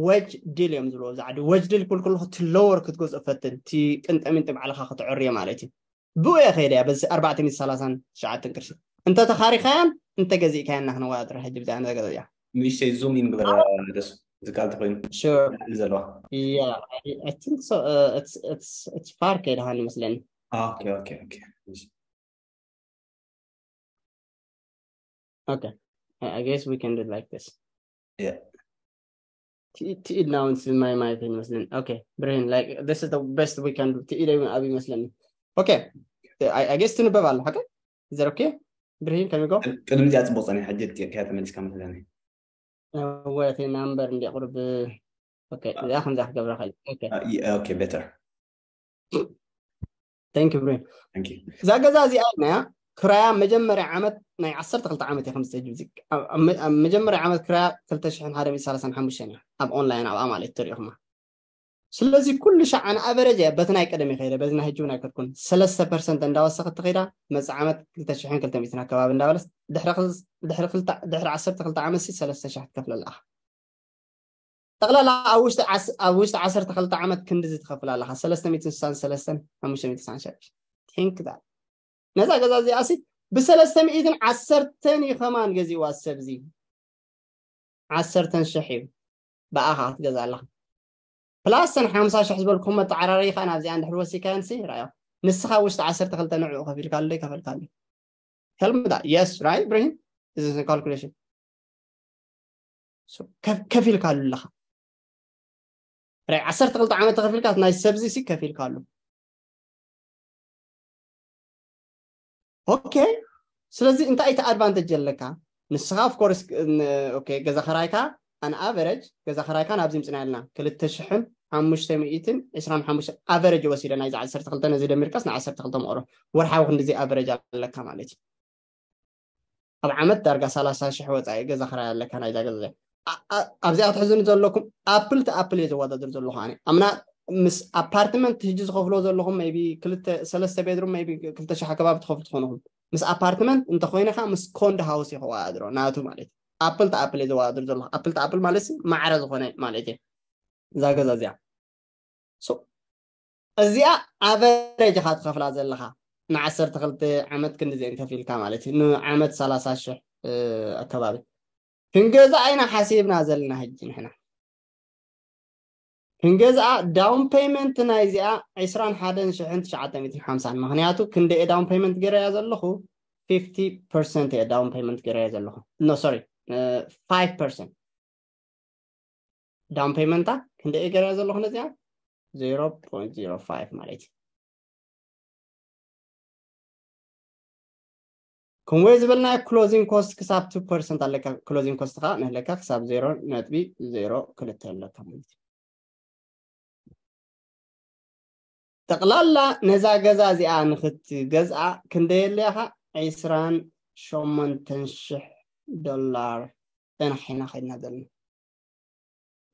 wedge deal እዮም ዝብልዎ ዛዕዲ wedge deal ክብል ከለኹ እቲ lower ክትገዝኦ ፈትን እቲ ቅንጠሚንጢ ባዕልኻ ክትዕርዮ ማለት እዩ ብኡ እየ ከይደ እያ በዚ ኣርባዕተ ሚእቲ ሰላሳን ትሽዓተን ቅርሺ እንተ ተኻሪኻያን እንተ ገዚእካያን ናክነዋዳድር ሕጂ ብዚኣ ነዛ ገዛ እዚኣ ንእሽተይ zoom in ግበራ ደሱ ዝቃል ተኮይኑ Sure. ዘለዋ Yeah, I, I think so. Uh, it's it's it's far ከይድሃን ይመስለኒ። Okay, okay, okay. Okay. I, I guess we can do it like this. Yeah. ትኢድ ትኢድ now it's my my thing ይመስለኒ። Okay, ብርሂን like this is the best we can do. ትኢድ እዩ ኣብ ይመስለኒ። Okay. I, I guess ትንበብ ኣሎ ሓቀ? Is that okay? ብርሂን can we go? ቅድሚ እዚኣ ጽቡቅ ጸኒሕ ሕጂ ከያ ተመሊስካ መስለኒ። ወቲ ናምበር እንዲ ቁርብ okay እዚኣ ከምዛ ክገብራ ኸእል okay okay better thank you ብሬን thank you እዛ ገዛ እዚኣ ኢልናያ ክራያ መጀመርያ ዓመት ናይ ዓሰርተ ክልተ ዓመት እየ ከምዚ ተጅብዚ ኣብ መጀመርያ ዓመት ክራያ ክልተ ሽሕን ሓደ ሚእትን ሰላሳን ሓሙሽተን እያ ኣብ ኦንላይን ኣብኣ ማለት ተሪእኹማ። ስለዚ ኩሉ ሻዕ ኣነ ኣቨረጅ እየ በቲ ናይ ቀደም ይኸይደ በዚ ናይ ህጂ እውን ኣይከድኩን ሰለስተ ፐርሰንት እንዳወሰኸት ትኸይዳ። መፅእ ዓመት ክልተ ሽሕን ክልተ ሚእትን ኣከባቢ እንዳበለስ ድሕሪ ዓሰርተ ክልተ ዓመት ሲ ሰለስተ ሽሕ ትከፍለላ። ጠቕላላ ኣብ ውሽጢ ዓሰርተ ክልተ ዓመት ክንድዚ ትኸፍል ኣለኻ ሰለስተ ሚእትን ስሳን ሰለስተን ሓሙሽተ ሚእትን ስሳን ሸዱሽተ። ቲንክ ዳት ነዛ ገዛ እዚኣ ሲ ብሰለስተ ሚእትን ዓሰርተን እዩ ከማን ገዚእዋ ሰብዚ ዓሰርተን ሽሕ እዩ ብኣኻ ክትገዛ ኣለኻ። ፕላስ ሰን ሓምሳ ሽሕ ዝበልኩም መጠዓራሪ ኸ ናብዚኣ እንድሕር ወሲካየን ሲ ራዮ ንስኻ ውሽጢ ዓሰርተ ክልተ ንዕኡ ከፊልካሉ ከፈልካሉ። Tell me that yes, right? Ibrahim? This is a calculation. ከፊልካሉ ኣለኻ። ራይ ዓሰርተ ክልተ ዓመት ተኸፊልካ ናይ ሰብዚ ሲ ከፊልካሉ። ኦኬ። ስለዚ እንታይ እቲ ኣድቫንቴጅ ኣለካ? ንስኻ ኦፍ ኮርስ ገዛ ኸራይካ ኣን ኣቨረጅ ገዛ ኸራይካ ናብዚ ምፅና ያልና ክልተ ሽሕን ሓሙሽተ ሚእትን ዕስራን ሓሙሽተ ኣቨረጅ ወሲደ ናይዚ ዓሰርተ ክልተ ነዚ ደሚርካስ ን ዓሰርተ ክልተ መቕሮ ወርሓዊ ክንዲዚ ኣቨረጅ ኣለካ ማለት እዩ። ኣብ ዓመት ዳርጋ ሰላሳ ሽሕ ወፃኢ ገዛ ኸራይ ኣለካ ናይዛ ገዛ እዚኣ። ኣብዚኣ ክትሕዝኒ ዘለኩም ኣፕል ቲ ኣፕል እየ ዘወዳድር ዘለኹ ኣነ ኣምና ምስ ኣፓርትመንት ህጂ ዝኸፍሎ ዘለኹም ቢ ክልተ ሰለስተ ቤድሩም ቢ ክልተ ሽሕ ኣከባቢ ትኸፍሉ ትኾንኹም ምስ ኣፓርትመንት እንተኮይነ ከዓ ምስ ኮንዶ ሃውስ ይኸዋድሮ ናቱ ማለት እዩ። ኣፕል ቲ ኣፕል እየ ዘወዳድር ዘለኹ ኣፕል ቲ ኣፕል ማለት ማዕረ ዝኾነ ማለት እዩ። እዛ ገዛ እዚኣ እዚኣ ኣቨሬጅ ኢኻ ትኸፍላ ዘለኻ ንዓሰርተ ክልተ ዓመት ክንዲዚአን ከፊልካ ማለት እዩ ንዓመት ሰላሳ ሽሕ ኣከባቢ ክንገዛ ኢና ሓሲብና ዘለና ሕጂ ንሕና ክንገዝኣ ዳውን ፔመንት ናይ እዚኣ ዕስራን ሓደን ሽሕን ትሽዓተ ሚእትን ሓምሳን ምክንያቱ ክንደየ ዳውን ፔመንት ገይረያ ዘለኹ ፊፍቲ ፐርሰንት እየ ዳውን ፔመንት ገይረያ ዘለኹ ኖ ሶሪ ፋይቭ ፐርሰንት ዳውን ፔመንታ ክንደይ ገይረ ዘለኹ ነዚኣ ዜሮ ፖይንት ዜሮ ፋይቭ ማለት እዩ። ከምኡ ዝበልናዮ ክሎዚንግ ኮስት ክሳብ ቱ ፐርሰንት ኣለካ። ክሎዚንግ ኮስት ከዓ ንህለካ ክሳብ ዜሮ ነጥቢ ዜሮ ክልተ ኣለካ ማለት እዩ። ጠቕላላ ነዛ ገዛ እዚኣ ንክትገዝኣ ክንደየለያ ከዓ ዒስራን ሸሞንተን ሽሕ ዶላር ጥራሕ ኢና ከድና ዘለና።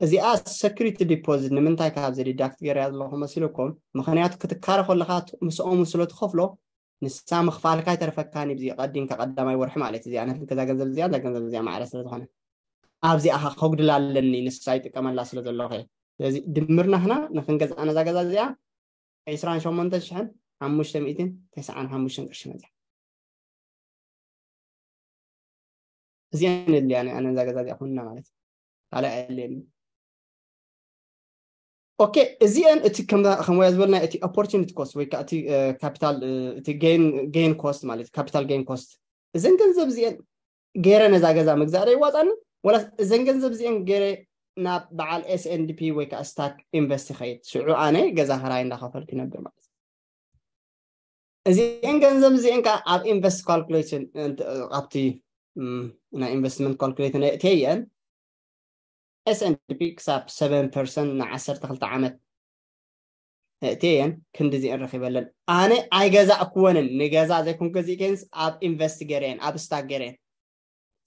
እዚኣ ሰኩሪቲ ዲፖዚት ንምንታይ ካብዚ ዲዳክት ገይረያ ዘለኹ መሲልኩም? ምኽንያቱ ክትካረ ከለኻ ምስኦም ስለ ትኸፍሎ ንሳ ምኽፋልካ ኣይተርፈካን እዩ። እዚ ቀዲምካ ቀዳማይ ወርሒ ማለት እዚኣ ነቲ ገዛ ገንዘብ እዚኣ እዛ ገንዘብ እዚኣ ማዕረ ስለ ዝኾነ ኣብዚኣ ከጉድላ ኣለኒ ንሳ ይጥቀመላ ስለ ዘለኹ እየ። ስለዚ ድምርና ህና ንክንገዝኣ ነዛ ገዛ እዚኣ ዒስራን ሸሞንተ ሽሕን ሓሙሽተ ሚእትን ተስዓን ሓሙሽተን ቅርሺ መፅያ። እዚኣን የድልያኒ ኣነ እዛ ገዛ እዚኣ ኮይና ማለት እዩ። ካልእ ኣየድልየኒ። ኦኬ እዚአን እቲ ከም ከምያ ዝበልና እቲ ኦፖርቹኒቲ ኮስት ወይ ከዓ እቲ ካፒታል እቲ ጌን ኮስት ማለት ካፒታል ጌን ኮስት እዘን ገንዘብ እዚአን ገይረ ነዛ ገዛ ምግዛእ ዶ ይዋፃኒ ወላስ እዘን ገንዘብ እዚአን ገይረ ናብ በዓል ኤስኤንዲፒ ወይ ከዓ ስታክ ኢንቨስት ይኸይድ ሽዑ ኣነ ገዛ ክራይ እንዳኸፈልኩ ይነብር ማለት እዚአን ገንዘብ እዚአን ከዓ ኣብ ኢንቨስት ካልኩሌሽን ኣብቲ ናይ ኢንቨስትመንት ካልኩሌተር ነእትየን ኤስኤንዲፒ ክሳብ ሰቨን ፐርሰንት ን ዓሰርተ ክልተ ዓመት ነእትየን ክንዲ እዚአን ረኪበለን ኣነ ኣይገዛእኩወንን ንገዛ ዘይኮን ገዚእከንስ ኣብ ኢንቨስት ገይረየን ኣብ ስታክ ገይረየን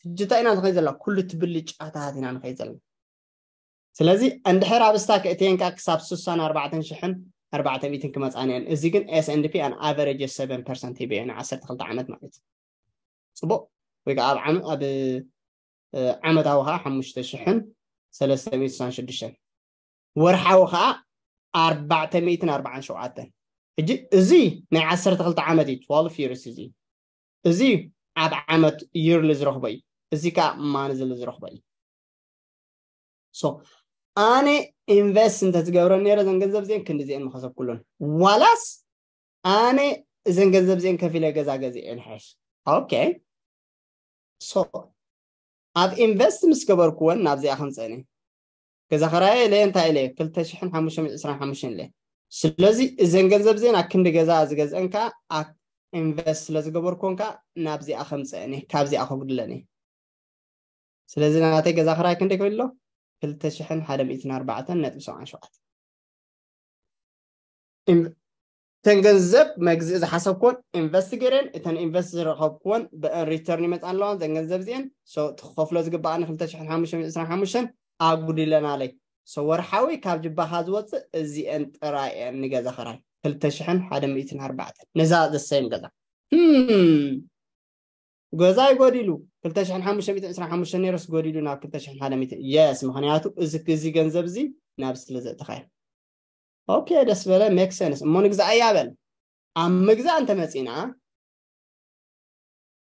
ትጅታ ኢና ንኸይ ዘለና ኩሉ ትብልጫታት ኢና ንኸይ ዘለና ስለዚ እንድሕር ኣብ ስታክ እትየን ከዓ ክሳብ ስሳን ኣርባዕተን ሽሕን ኣርባዕተ ሚእትን ክመፃን እየን እዚ ግን ኤስኤንዲፒ ኣን ኣቨሬጅ ሰቨን ፐርሰንት ሂበ እየ ን ዓሰርተ ክልተ ዓመት ማለት እዩ ፅቡቅ ወይ ከዓ ኣብ ዓመታዊ ከዓ ሓሙሽተ ሽሕን ሰለስተ ሚእትን ስሳን ሽዱሽተን ወርሓዊ ከዓ ኣርባዕተ ሚእትን ኣርባዓን ሸውዓተን ሕጂ እዚ ናይ ዓሰርተ ክልተ ዓመት እዩ ትዋልፍ ይርስ እዚ እዚ ኣብ ዓመት ይርሊ ዝረኽቦ እዩ እዚ ከዓ ማንዝሊ ዝረኽቦ እዩ ሶ ኣነ ኢንቨስት እንተትገብረን ነረ እዘን ገንዘብ እዚአን ክንዲ እዚአን ምኸሰብኩሉን ዋላስ ኣነ እዘን ገንዘብ እዚአን ከፊለ ገዛ ገዚአ እየ ንሓይሽ ኦኬ ሶ ኣብ ኢንቨስት ምስ ገበርኩወን ናብዚኣ ከምፀእኒ ገዛ ኸራየ ኢለ እንታይ ኢለ ክልተ ሽሕን ሓሙሽተ ሚእትን ዕስራን ሓሙሽተን ኢለ ስለዚ እዘን ገንዘብ እዚአን ኣብ ክንዲ ገዛ ዝገዝአን ከዓ ኢንቨስት ስለ ዝገበርኩወን ከዓ ናብዚኣ ከምፀእኒ ካብዚኣ ከጉድለኒ ስለዚ ናተይ ገዛ ክራይ ክንደይ ክብል ኣሎ ክልተ ሽሕን ሓደ ሚእትን ኣርባዕተን ነጥቢ ሰብዓን ሸውዓተን እተን ገንዘብ መግዝኢ ዝሓሰብኩዎን ኢንቨስት ገይረን እተን ኢንቨስት ዝረኸብኩዎን ብአን ሪተርን ይመፃ ኣለዋ። እዘን ገንዘብ እዚአን ትኸፍሎ ዝግባኣኒ ክልተ ሽሕን ሓሙሽተ ሚእትን ዕስራን ሓሙሽተን ኣጉዲለናለይ። ወርሓዊ ካብ ጅባኻ ዝወፅእ እዚአን ጥራይ እየን ንገዛ ኸራይ ክልተ ሽሕን ሓደ ሚእትን ኣርባዕተን ነዛ ዘሰይም ገዛ ገዛይ ጎዲሉ ክልተ ሽሕን ሓሙሽተ ሚእትን ዕስራን ሓሙሽተን ነይረስ ጎዲሉ ናብ ክልተ ሽሕን ሓደ ሚእትን። የስ፣ ምኽንያቱ እዚ እዚ ገንዘብ እዚ ናብ ስለ ዘእተኻዮ። ኦኬ፣ ደስ በለ፣ ሜክ ሰንስ። እሞ ንግዛእ እያ በል። ኣብ ምግዛእ እንተመፂና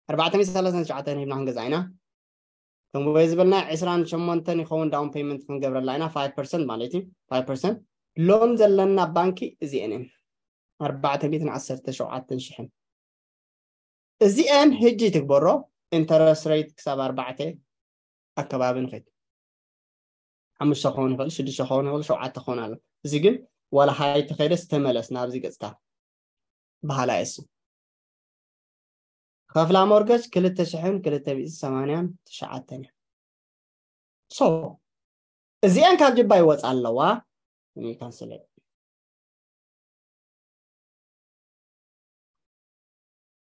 ኣርባዕተ ሚእትን ሰላሳን ትሽዓተን ሂብና ክንገዛ ኢና። ከም ወይ ዝበልና ዕስራን ሸሞንተን ይኸውን ዳውን ፔመንት ክንገብረላ ኢና፣ ፋይቭ ፐርሰንት ማለት እዩ። ፋይቭ ፐርሰንት ሎን ዘለና ባንኪ እዚአን እየን፣ ኣርባዕተ ሚእትን ዓሰርተ ሸውዓተን ሽሕን። እዚአን ህጂ ትግበሮ ኢንተረስት ሬት ክሳብ ኣርባዕተ ኣከባቢ ንኸይድ። ሓሙሽተ ክኸውን ይኽእል፣ ሽዱሽተ ክኸውን ይኽእል፣ ሸውዓተ ክኸውን ኣሎ። እዚ ግን ዋላ ሃይ ተኸይደስ ተመለስ ናብዚ ገጽካ። በሃላይ እሱ። ከፍላ ሞርገጅ ክልተ ሽሕን ክልተ ሚእትን ሰማንያን ትሽዓተን እያ። ሶ እዚአን ካብ ጅባ ይወፃ ኣለዋ። እኔ ካንስል እየ።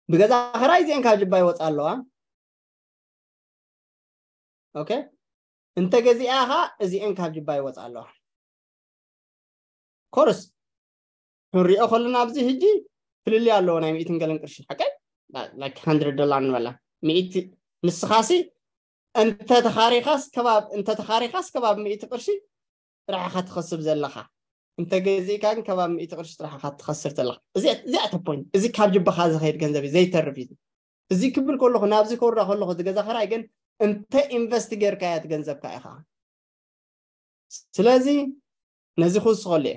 ብገዛ ኸራይ እዚአን ካብ ጅባ ይወፃ ኣለዋ። ኦኬ፣ እንተ ገዚኣ ኸዓ እዚአን ካብ ጅባ ይወፃ ኣለዋ። ኮርስ ክንሪኦ ከለና ኣብዚ ህጂ ፍልልይ ኣለዎ ናይ ሚእትን ገለን ቅርሺ። ሓቀይ ላይክ ሃንድረድ ዶላር ንበላ። ሚእቲ ንስኻሲ እንተ ተኻሪኻስ ከባብ እንተ ተኻሪኻስ ከባብ ሚእቲ ቅርሺ ጥራሕኻ ትኸስብ ዘለኻ። እንተ ገዚእካ ግን ከባብ ሚእቲ ቅርሺ ጥራሕኻ ትኸስር ዘለኻ። እዚኣ እዚኣ እተ ፖይንት። እዚ ካብ ጅባኻ ዝኸይድ ገንዘብ እዩ፣ ዘይተርፍ እዩ። እዚ ክብል ከለኹ ናብዚ ከውርዳ ከለኹ እቲ ገዛ ኸራይ ግን እንተ ኢንቨስት ጌርካያ እቲ ገንዘብካ ኢኻ። ስለዚ ነዚ ክውስኸሉ እየ።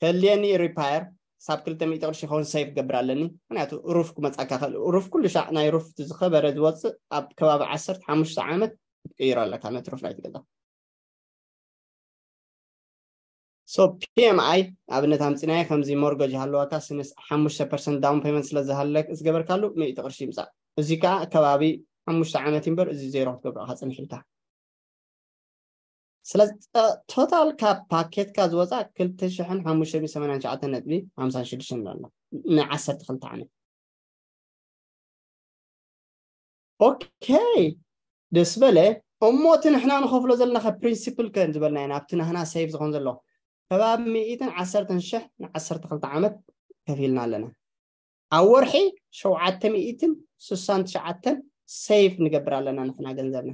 ከድልየኒ ሪፓየር ሳብ ክልተ ሚእቲ ቅርሺ ይኸውን ሴቭ ገብር ኣለኒ። ምክንያቱ ሩፍ ክመጻካ ክእል። ሩፍ ኩሉ ሻዕ ናይ ሩፍ እቲ ዝኸበረ ዝወፅእ ኣብ ከባቢ ዓሰርተ ሓሙሽተ ዓመት ክትቅይሮ ኣለካ ነቲ ሩፍ ናይቲ ገዛ። ሶ ፒኤምኣይ ኣብነት ኣምፅናዮ ከምዚ ሞርገጅ ሃለዋካ ስንስ ሓሙሽተ ፐርሰንት ዳውን ፔመንት ስለ ዝሃለክ ዝገበርካሉ ሚእቲ ቅርሺ ይምፃእ። እዚ ከዓ ከባቢ ሓሙሽተ ዓመት እምበር እዚ ዜሮ ክትገብሮ ኢኻ ፅንሕ ኢልካ። ስለዚ ተ- ቶታል ካብ ፓኬትካ ዝወፃ ክልተ ሽሕን ሓሙሽተ ሚእትን ሰማንያን ትሽዓተን ነጥቢ ሓምሳን ሽዱሽተን ኣሎ ንዓሰርተ ክልተ ዓመት። ኦኬ፣ ደስ በለ። እሞ እቲ ንሕና ንኸፍሎ ዘለና ከ ፕሪንሲፕል ከ ዝበልናዮ ናብቲ ናህና ሴቭ ዝኾን ዘሎ ከባቢ ሚእትን ዓሰርተን ሽሕ ንዓሰርተ ክልተ ዓመት ከፊልና ኣለና። ኣብ ወርሒ ሸውዓተ ሚእትን ስሳን ትሽዓተን ሴቭ ንገብር ኣለና ንሕና ገንዘብና።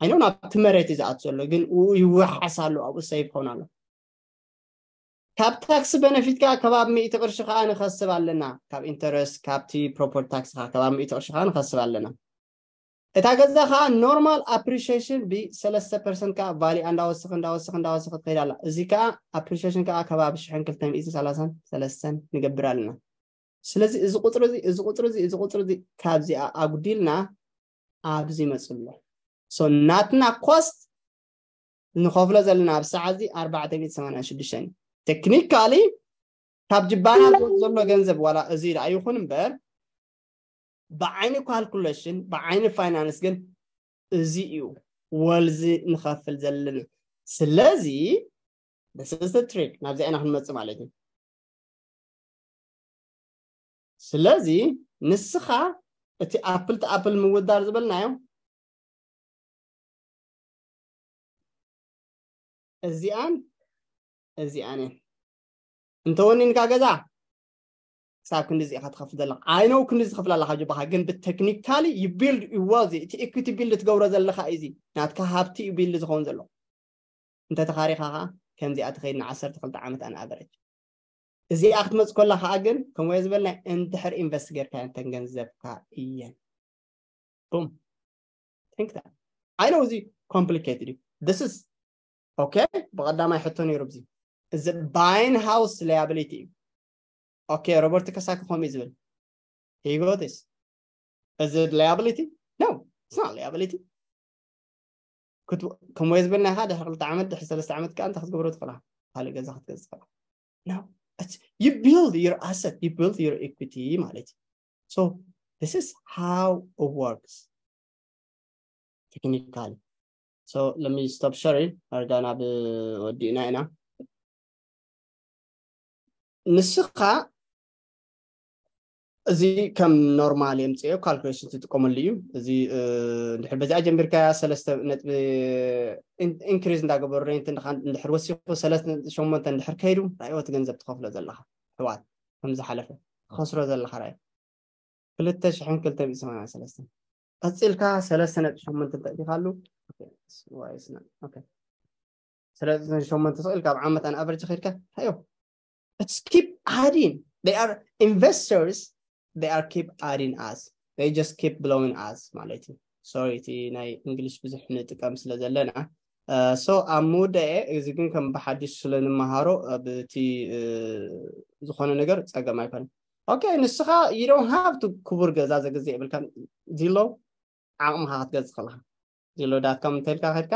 ኣይኖ ናብቲ መሬት እዩ ዝኣት ዘሎ ግን ኡ ይወሓስ ኣሎ፣ ኣብኡ ሴቭ ኾን ኣሎ። ካብ ታክስ በነፊት ከዓ ከባቢ ሚእቲ ቅርሺ ከዓ ንኸስብ ኣለና። ካብ ኢንተረስት ካብቲ ፕሮፐርቲ ታክስ ከዓ ከባቢ ሚእቲ ቅርሺ ከዓ ንኸስብ ኣለና። እታ ገዛ ከዓ ኖርማል ኣፕሪሺዬሽን ብሰለስተ ፐርሰንት ከዓ ቫሊኣ እንዳወሰኸ እንዳወሰኸ እንዳወሰኸ ትኸይድ ኣላ። እዚ ከዓ ኣፕሪሺዬሽን ከዓ ከባቢ ሽሕን ክልተ ሚእትን ሰላሳን ሰለስተን ንገብር ኣለና። ስለዚ እዚ ቁፅሪ እዚ እዚ ቁፅሪ እዚ እዚ ቁፅሪ እዚ ካብዚኣ ኣጉዲልና ኣብዚ ይመፅእ ኣሎ። ሶ ናትና ኮስት ንኸፍሎ ዘለና ኣብ ሰዓት እዚ ኣርባዕተ ሚእቲ ሰማንያን ሽዱሽተ እዩ። ቴክኒካሊ ካብ ጅባና ዝወፅ ዘሎ ገንዘብ ዋላ እዚ ደኣ ይኹን እምበር ብዓይኒ ካልኩሌሽን ብዓይኒ ፋይናንስ ግን እዚ እዩ ወልዚ ንኸፍል ዘለና። ስለዚ this is the trick ናብዚኣ ኢና ክንመፅእ ማለት እዩ። ስለዚ ንስኻ እቲ ኣፕል ቱ ኣፕል ምውዳር ዝበልናዮ እዚኣን እዚኣን እየን። እንተወኒንካ ገዛ ክሳብ ክንዲ እዚኢኻ ትኸፍል ዘለኻ። I know ክንዲ ዝኸፍል ኣለኻ ጅባኻ፣ ግን ብቴክኒካሊ you build your wealth፣ እቲ ኢኩቲ ቢልድ ትገብሮ ዘለኻ እዩ። እዚ ናትካ ሃብቲ እዩ ቢልድ ዝኸውን ዘሎ። እንተ ተኻሪኻ ኸዓ ከምዚኣ ትኸይድ ንዓሰርተ ክልተ ዓመት ኣን ኣቨሬጅ። እዚኣ ክትመጽእ ከላ ኸዓ ግን ከምኡ ዝበልና እንድሕር ኢንቨስት ጌርካ እንተን ገንዘብካ እየን። ቡም። Think that. I know እዚ ኮምፕሊኬትድ እዩ። This is okay። ብቐዳማይ ሕቶ ነይሩ ኣብዚ እዚ ባይን ሃውስ ላያብሊቲ እዩ። ኦኬ፣ ሮበርት ከሳኪ ከምኡ እዩ ዝብል። He got this. እዚ ላያብሊቲ? No, it's not liability. ከም ወይ ዝበልናኻ ድሕሪ ክልተ ዓመት ድሕሪ ሰለስተ ዓመት ከዓ እንታይ ክትገብሮ ትኽእላ? ካልእ ገዛ ክትገዝእ ትኽእላ። No, it's, you build your asset, you build your equity ማለት እዩ። So this is how it works technically. So let me stop sharing. ኣርጋ ናብ ወዲእና ኢና። ንስኻ እዚ ከም ኖርማል የምፅኦ ካልኩሌሽን ትጥቀመሉ እዩ። እዚ ድሕር በዚኣ ጀሚርካያ ሰለስተ ነጥቢ ኢንክሪዝ እንዳገበሩ ሬንት እንድሕር ወሲኹ ሰለስተ ነጥቢ ሸሞንተ እንድሕር ከይዱ ራእዮ እቲ ገንዘብ ትኸፍሎ ዘለኻ ሕዋት ከም ዝሓለፈ ትኸስሮ ዘለኻ ራእዮ ክልተ ሽሕን ክልተ ሚእቲ ሰማንያ ሰለስተ ቀፂልካ ሰለስተ ነጥቢ ሸሞንተ ተእቲኻሉ ሰለስተ ነጥቢ ሸሞንተ ስቕ ኢልካ ኣብ ዓመት ኣን ኣቨሬጅ ከይድካ ራእዮ it's keep adding they are investors they are keep adding us they just keep blowing us ማለት እዩ። ሶሪ እቲ ናይ እንግሊሽ ብዙሕ ንጥቀም ስለ ዘለና ሶ ኣብ ምውደኤ እዚ ግን ከም ብሓዲሽ ስለ ንመሃሮ ኣብቲ ዝኾነ ነገር ፀገም ኣይኮነን። ኦኬ ንስኻ you don't have to ክቡር ገዛ ዘግዜ የብልካ ዚሎ ዓቕምኻ ክትገዝ ከለካ ዚሎ ዳት ኮም እንተልካ ከድካ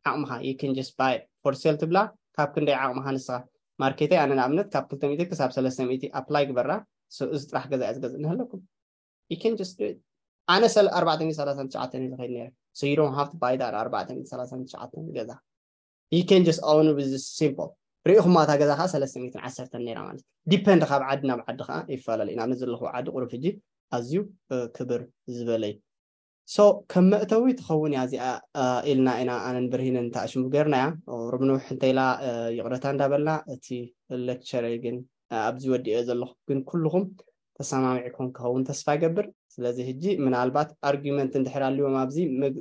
ዓቕምኻ you can just buy for sale ትብላ ካብ ክንደይ ዓቕምኻ ንስኻ ማርኬተይ ኣነ ንኣብነት ካብ ክልተ ሚእቲ ክሳብ ሰለስተ ሚእቲ ኣፕላይ ግበራ። እዚ ጥራሕ ገዛ እያ ዝገዝእ ንህለኩም you can just do it ኣነ ሰለ ኣርባዕተ ሚእቲ ሰላሳን ትሽዓተን ዝኸይድ ነረ so you don't have to buy that ኣርባዕተ ሚእቲ ሰላሳን ትሽዓተን ገዛ you can just own with simple ሪኢኹማ እታ ገዛ ከዓ ሰለስተ ሚእትን ዓሰርተን ነራ ማለት ዲፐንድ ካብ ዓዲ ናብ ዓዲ ከዓ ይፈላለ ኢና ኣብዚ ዘለኹ ዓዲ ቁሩብ ሕጂ ኣዝዩ ክብር ዝበለይ ሶ ከም መእተዊ ትኸውን እያ እዚኣ ኢልና ኢና ኣነን ብርሂንን ተኣሽሙ ገርናያ ርብንውሕ እንተኢላ ይቕረታ እንዳበልና እቲ ሌክቸረይ ግን ኣብዚ ወዲኦ ዘለኹ ግን ኩልኹም ተሰማሚዕኩም ክኸውን ተስፋ ይገብር ስለዚ ሕጂ ምናልባት ኣርጊመንት እንድሕር ኣልዎም ኣብዚ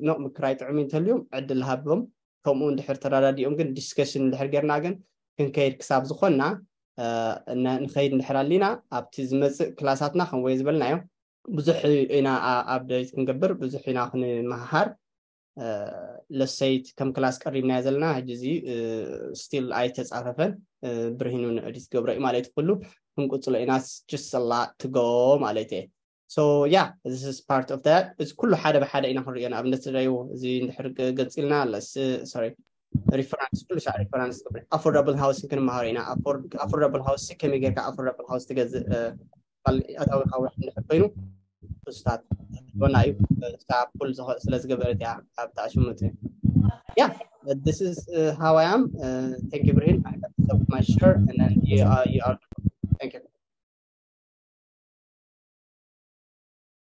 ኖቕ ምክራይ ጥዑም እንተልዮም ዕድል ሃቦም ከምኡ እንድሕር ተረዳዲኦም ግን ዲስከሽን እንድሕር ጌርና ግን ክንከይድ ክሳብ ዝኾንና ንኸይድ እንድሕር ኣሊና ኣብቲ ዝመፅእ ክላሳትና ከምወየ ዝበልናዮ ብዙሕ ኢና ኣብ ደይት ክንገብር ብዙሕ ኢና ክንመሃር ለሰይት ከም ክላስ ቀሪብናዮ ዘለና ሕጂ እዚ ስቲል ኣይተፃፈፈን ብርሂኑ ንዕዲት ገብረ እዩ ማለት ኩሉ ክንቁፅሎ ኢና just a lot to go ማለት እየ so yeah this is part of that እዚ ኩሉ ሓደ ብሓደ ኢና ክንሪኦ ንኣብነት ትደዩ እዚ እንድሕር ገፂልና ለስ ሶሪ ሪፈራንስ ኩሉ ሻዕ ሪፈራንስ affordable housing ክንመሃሮ ኢና affordable house ከመይ ጌርካ affordable house ትገዝእ ኣታዊ ካብ እንድሕር ኮይኑ ኡስታት ና እዩ ስታ ፑል ስለ ዝገበረት እያ ኣብ ተኣሽሙት yeah this is uh, how I am uh, thank you ብርሂን I have to stop my share and then you are, you are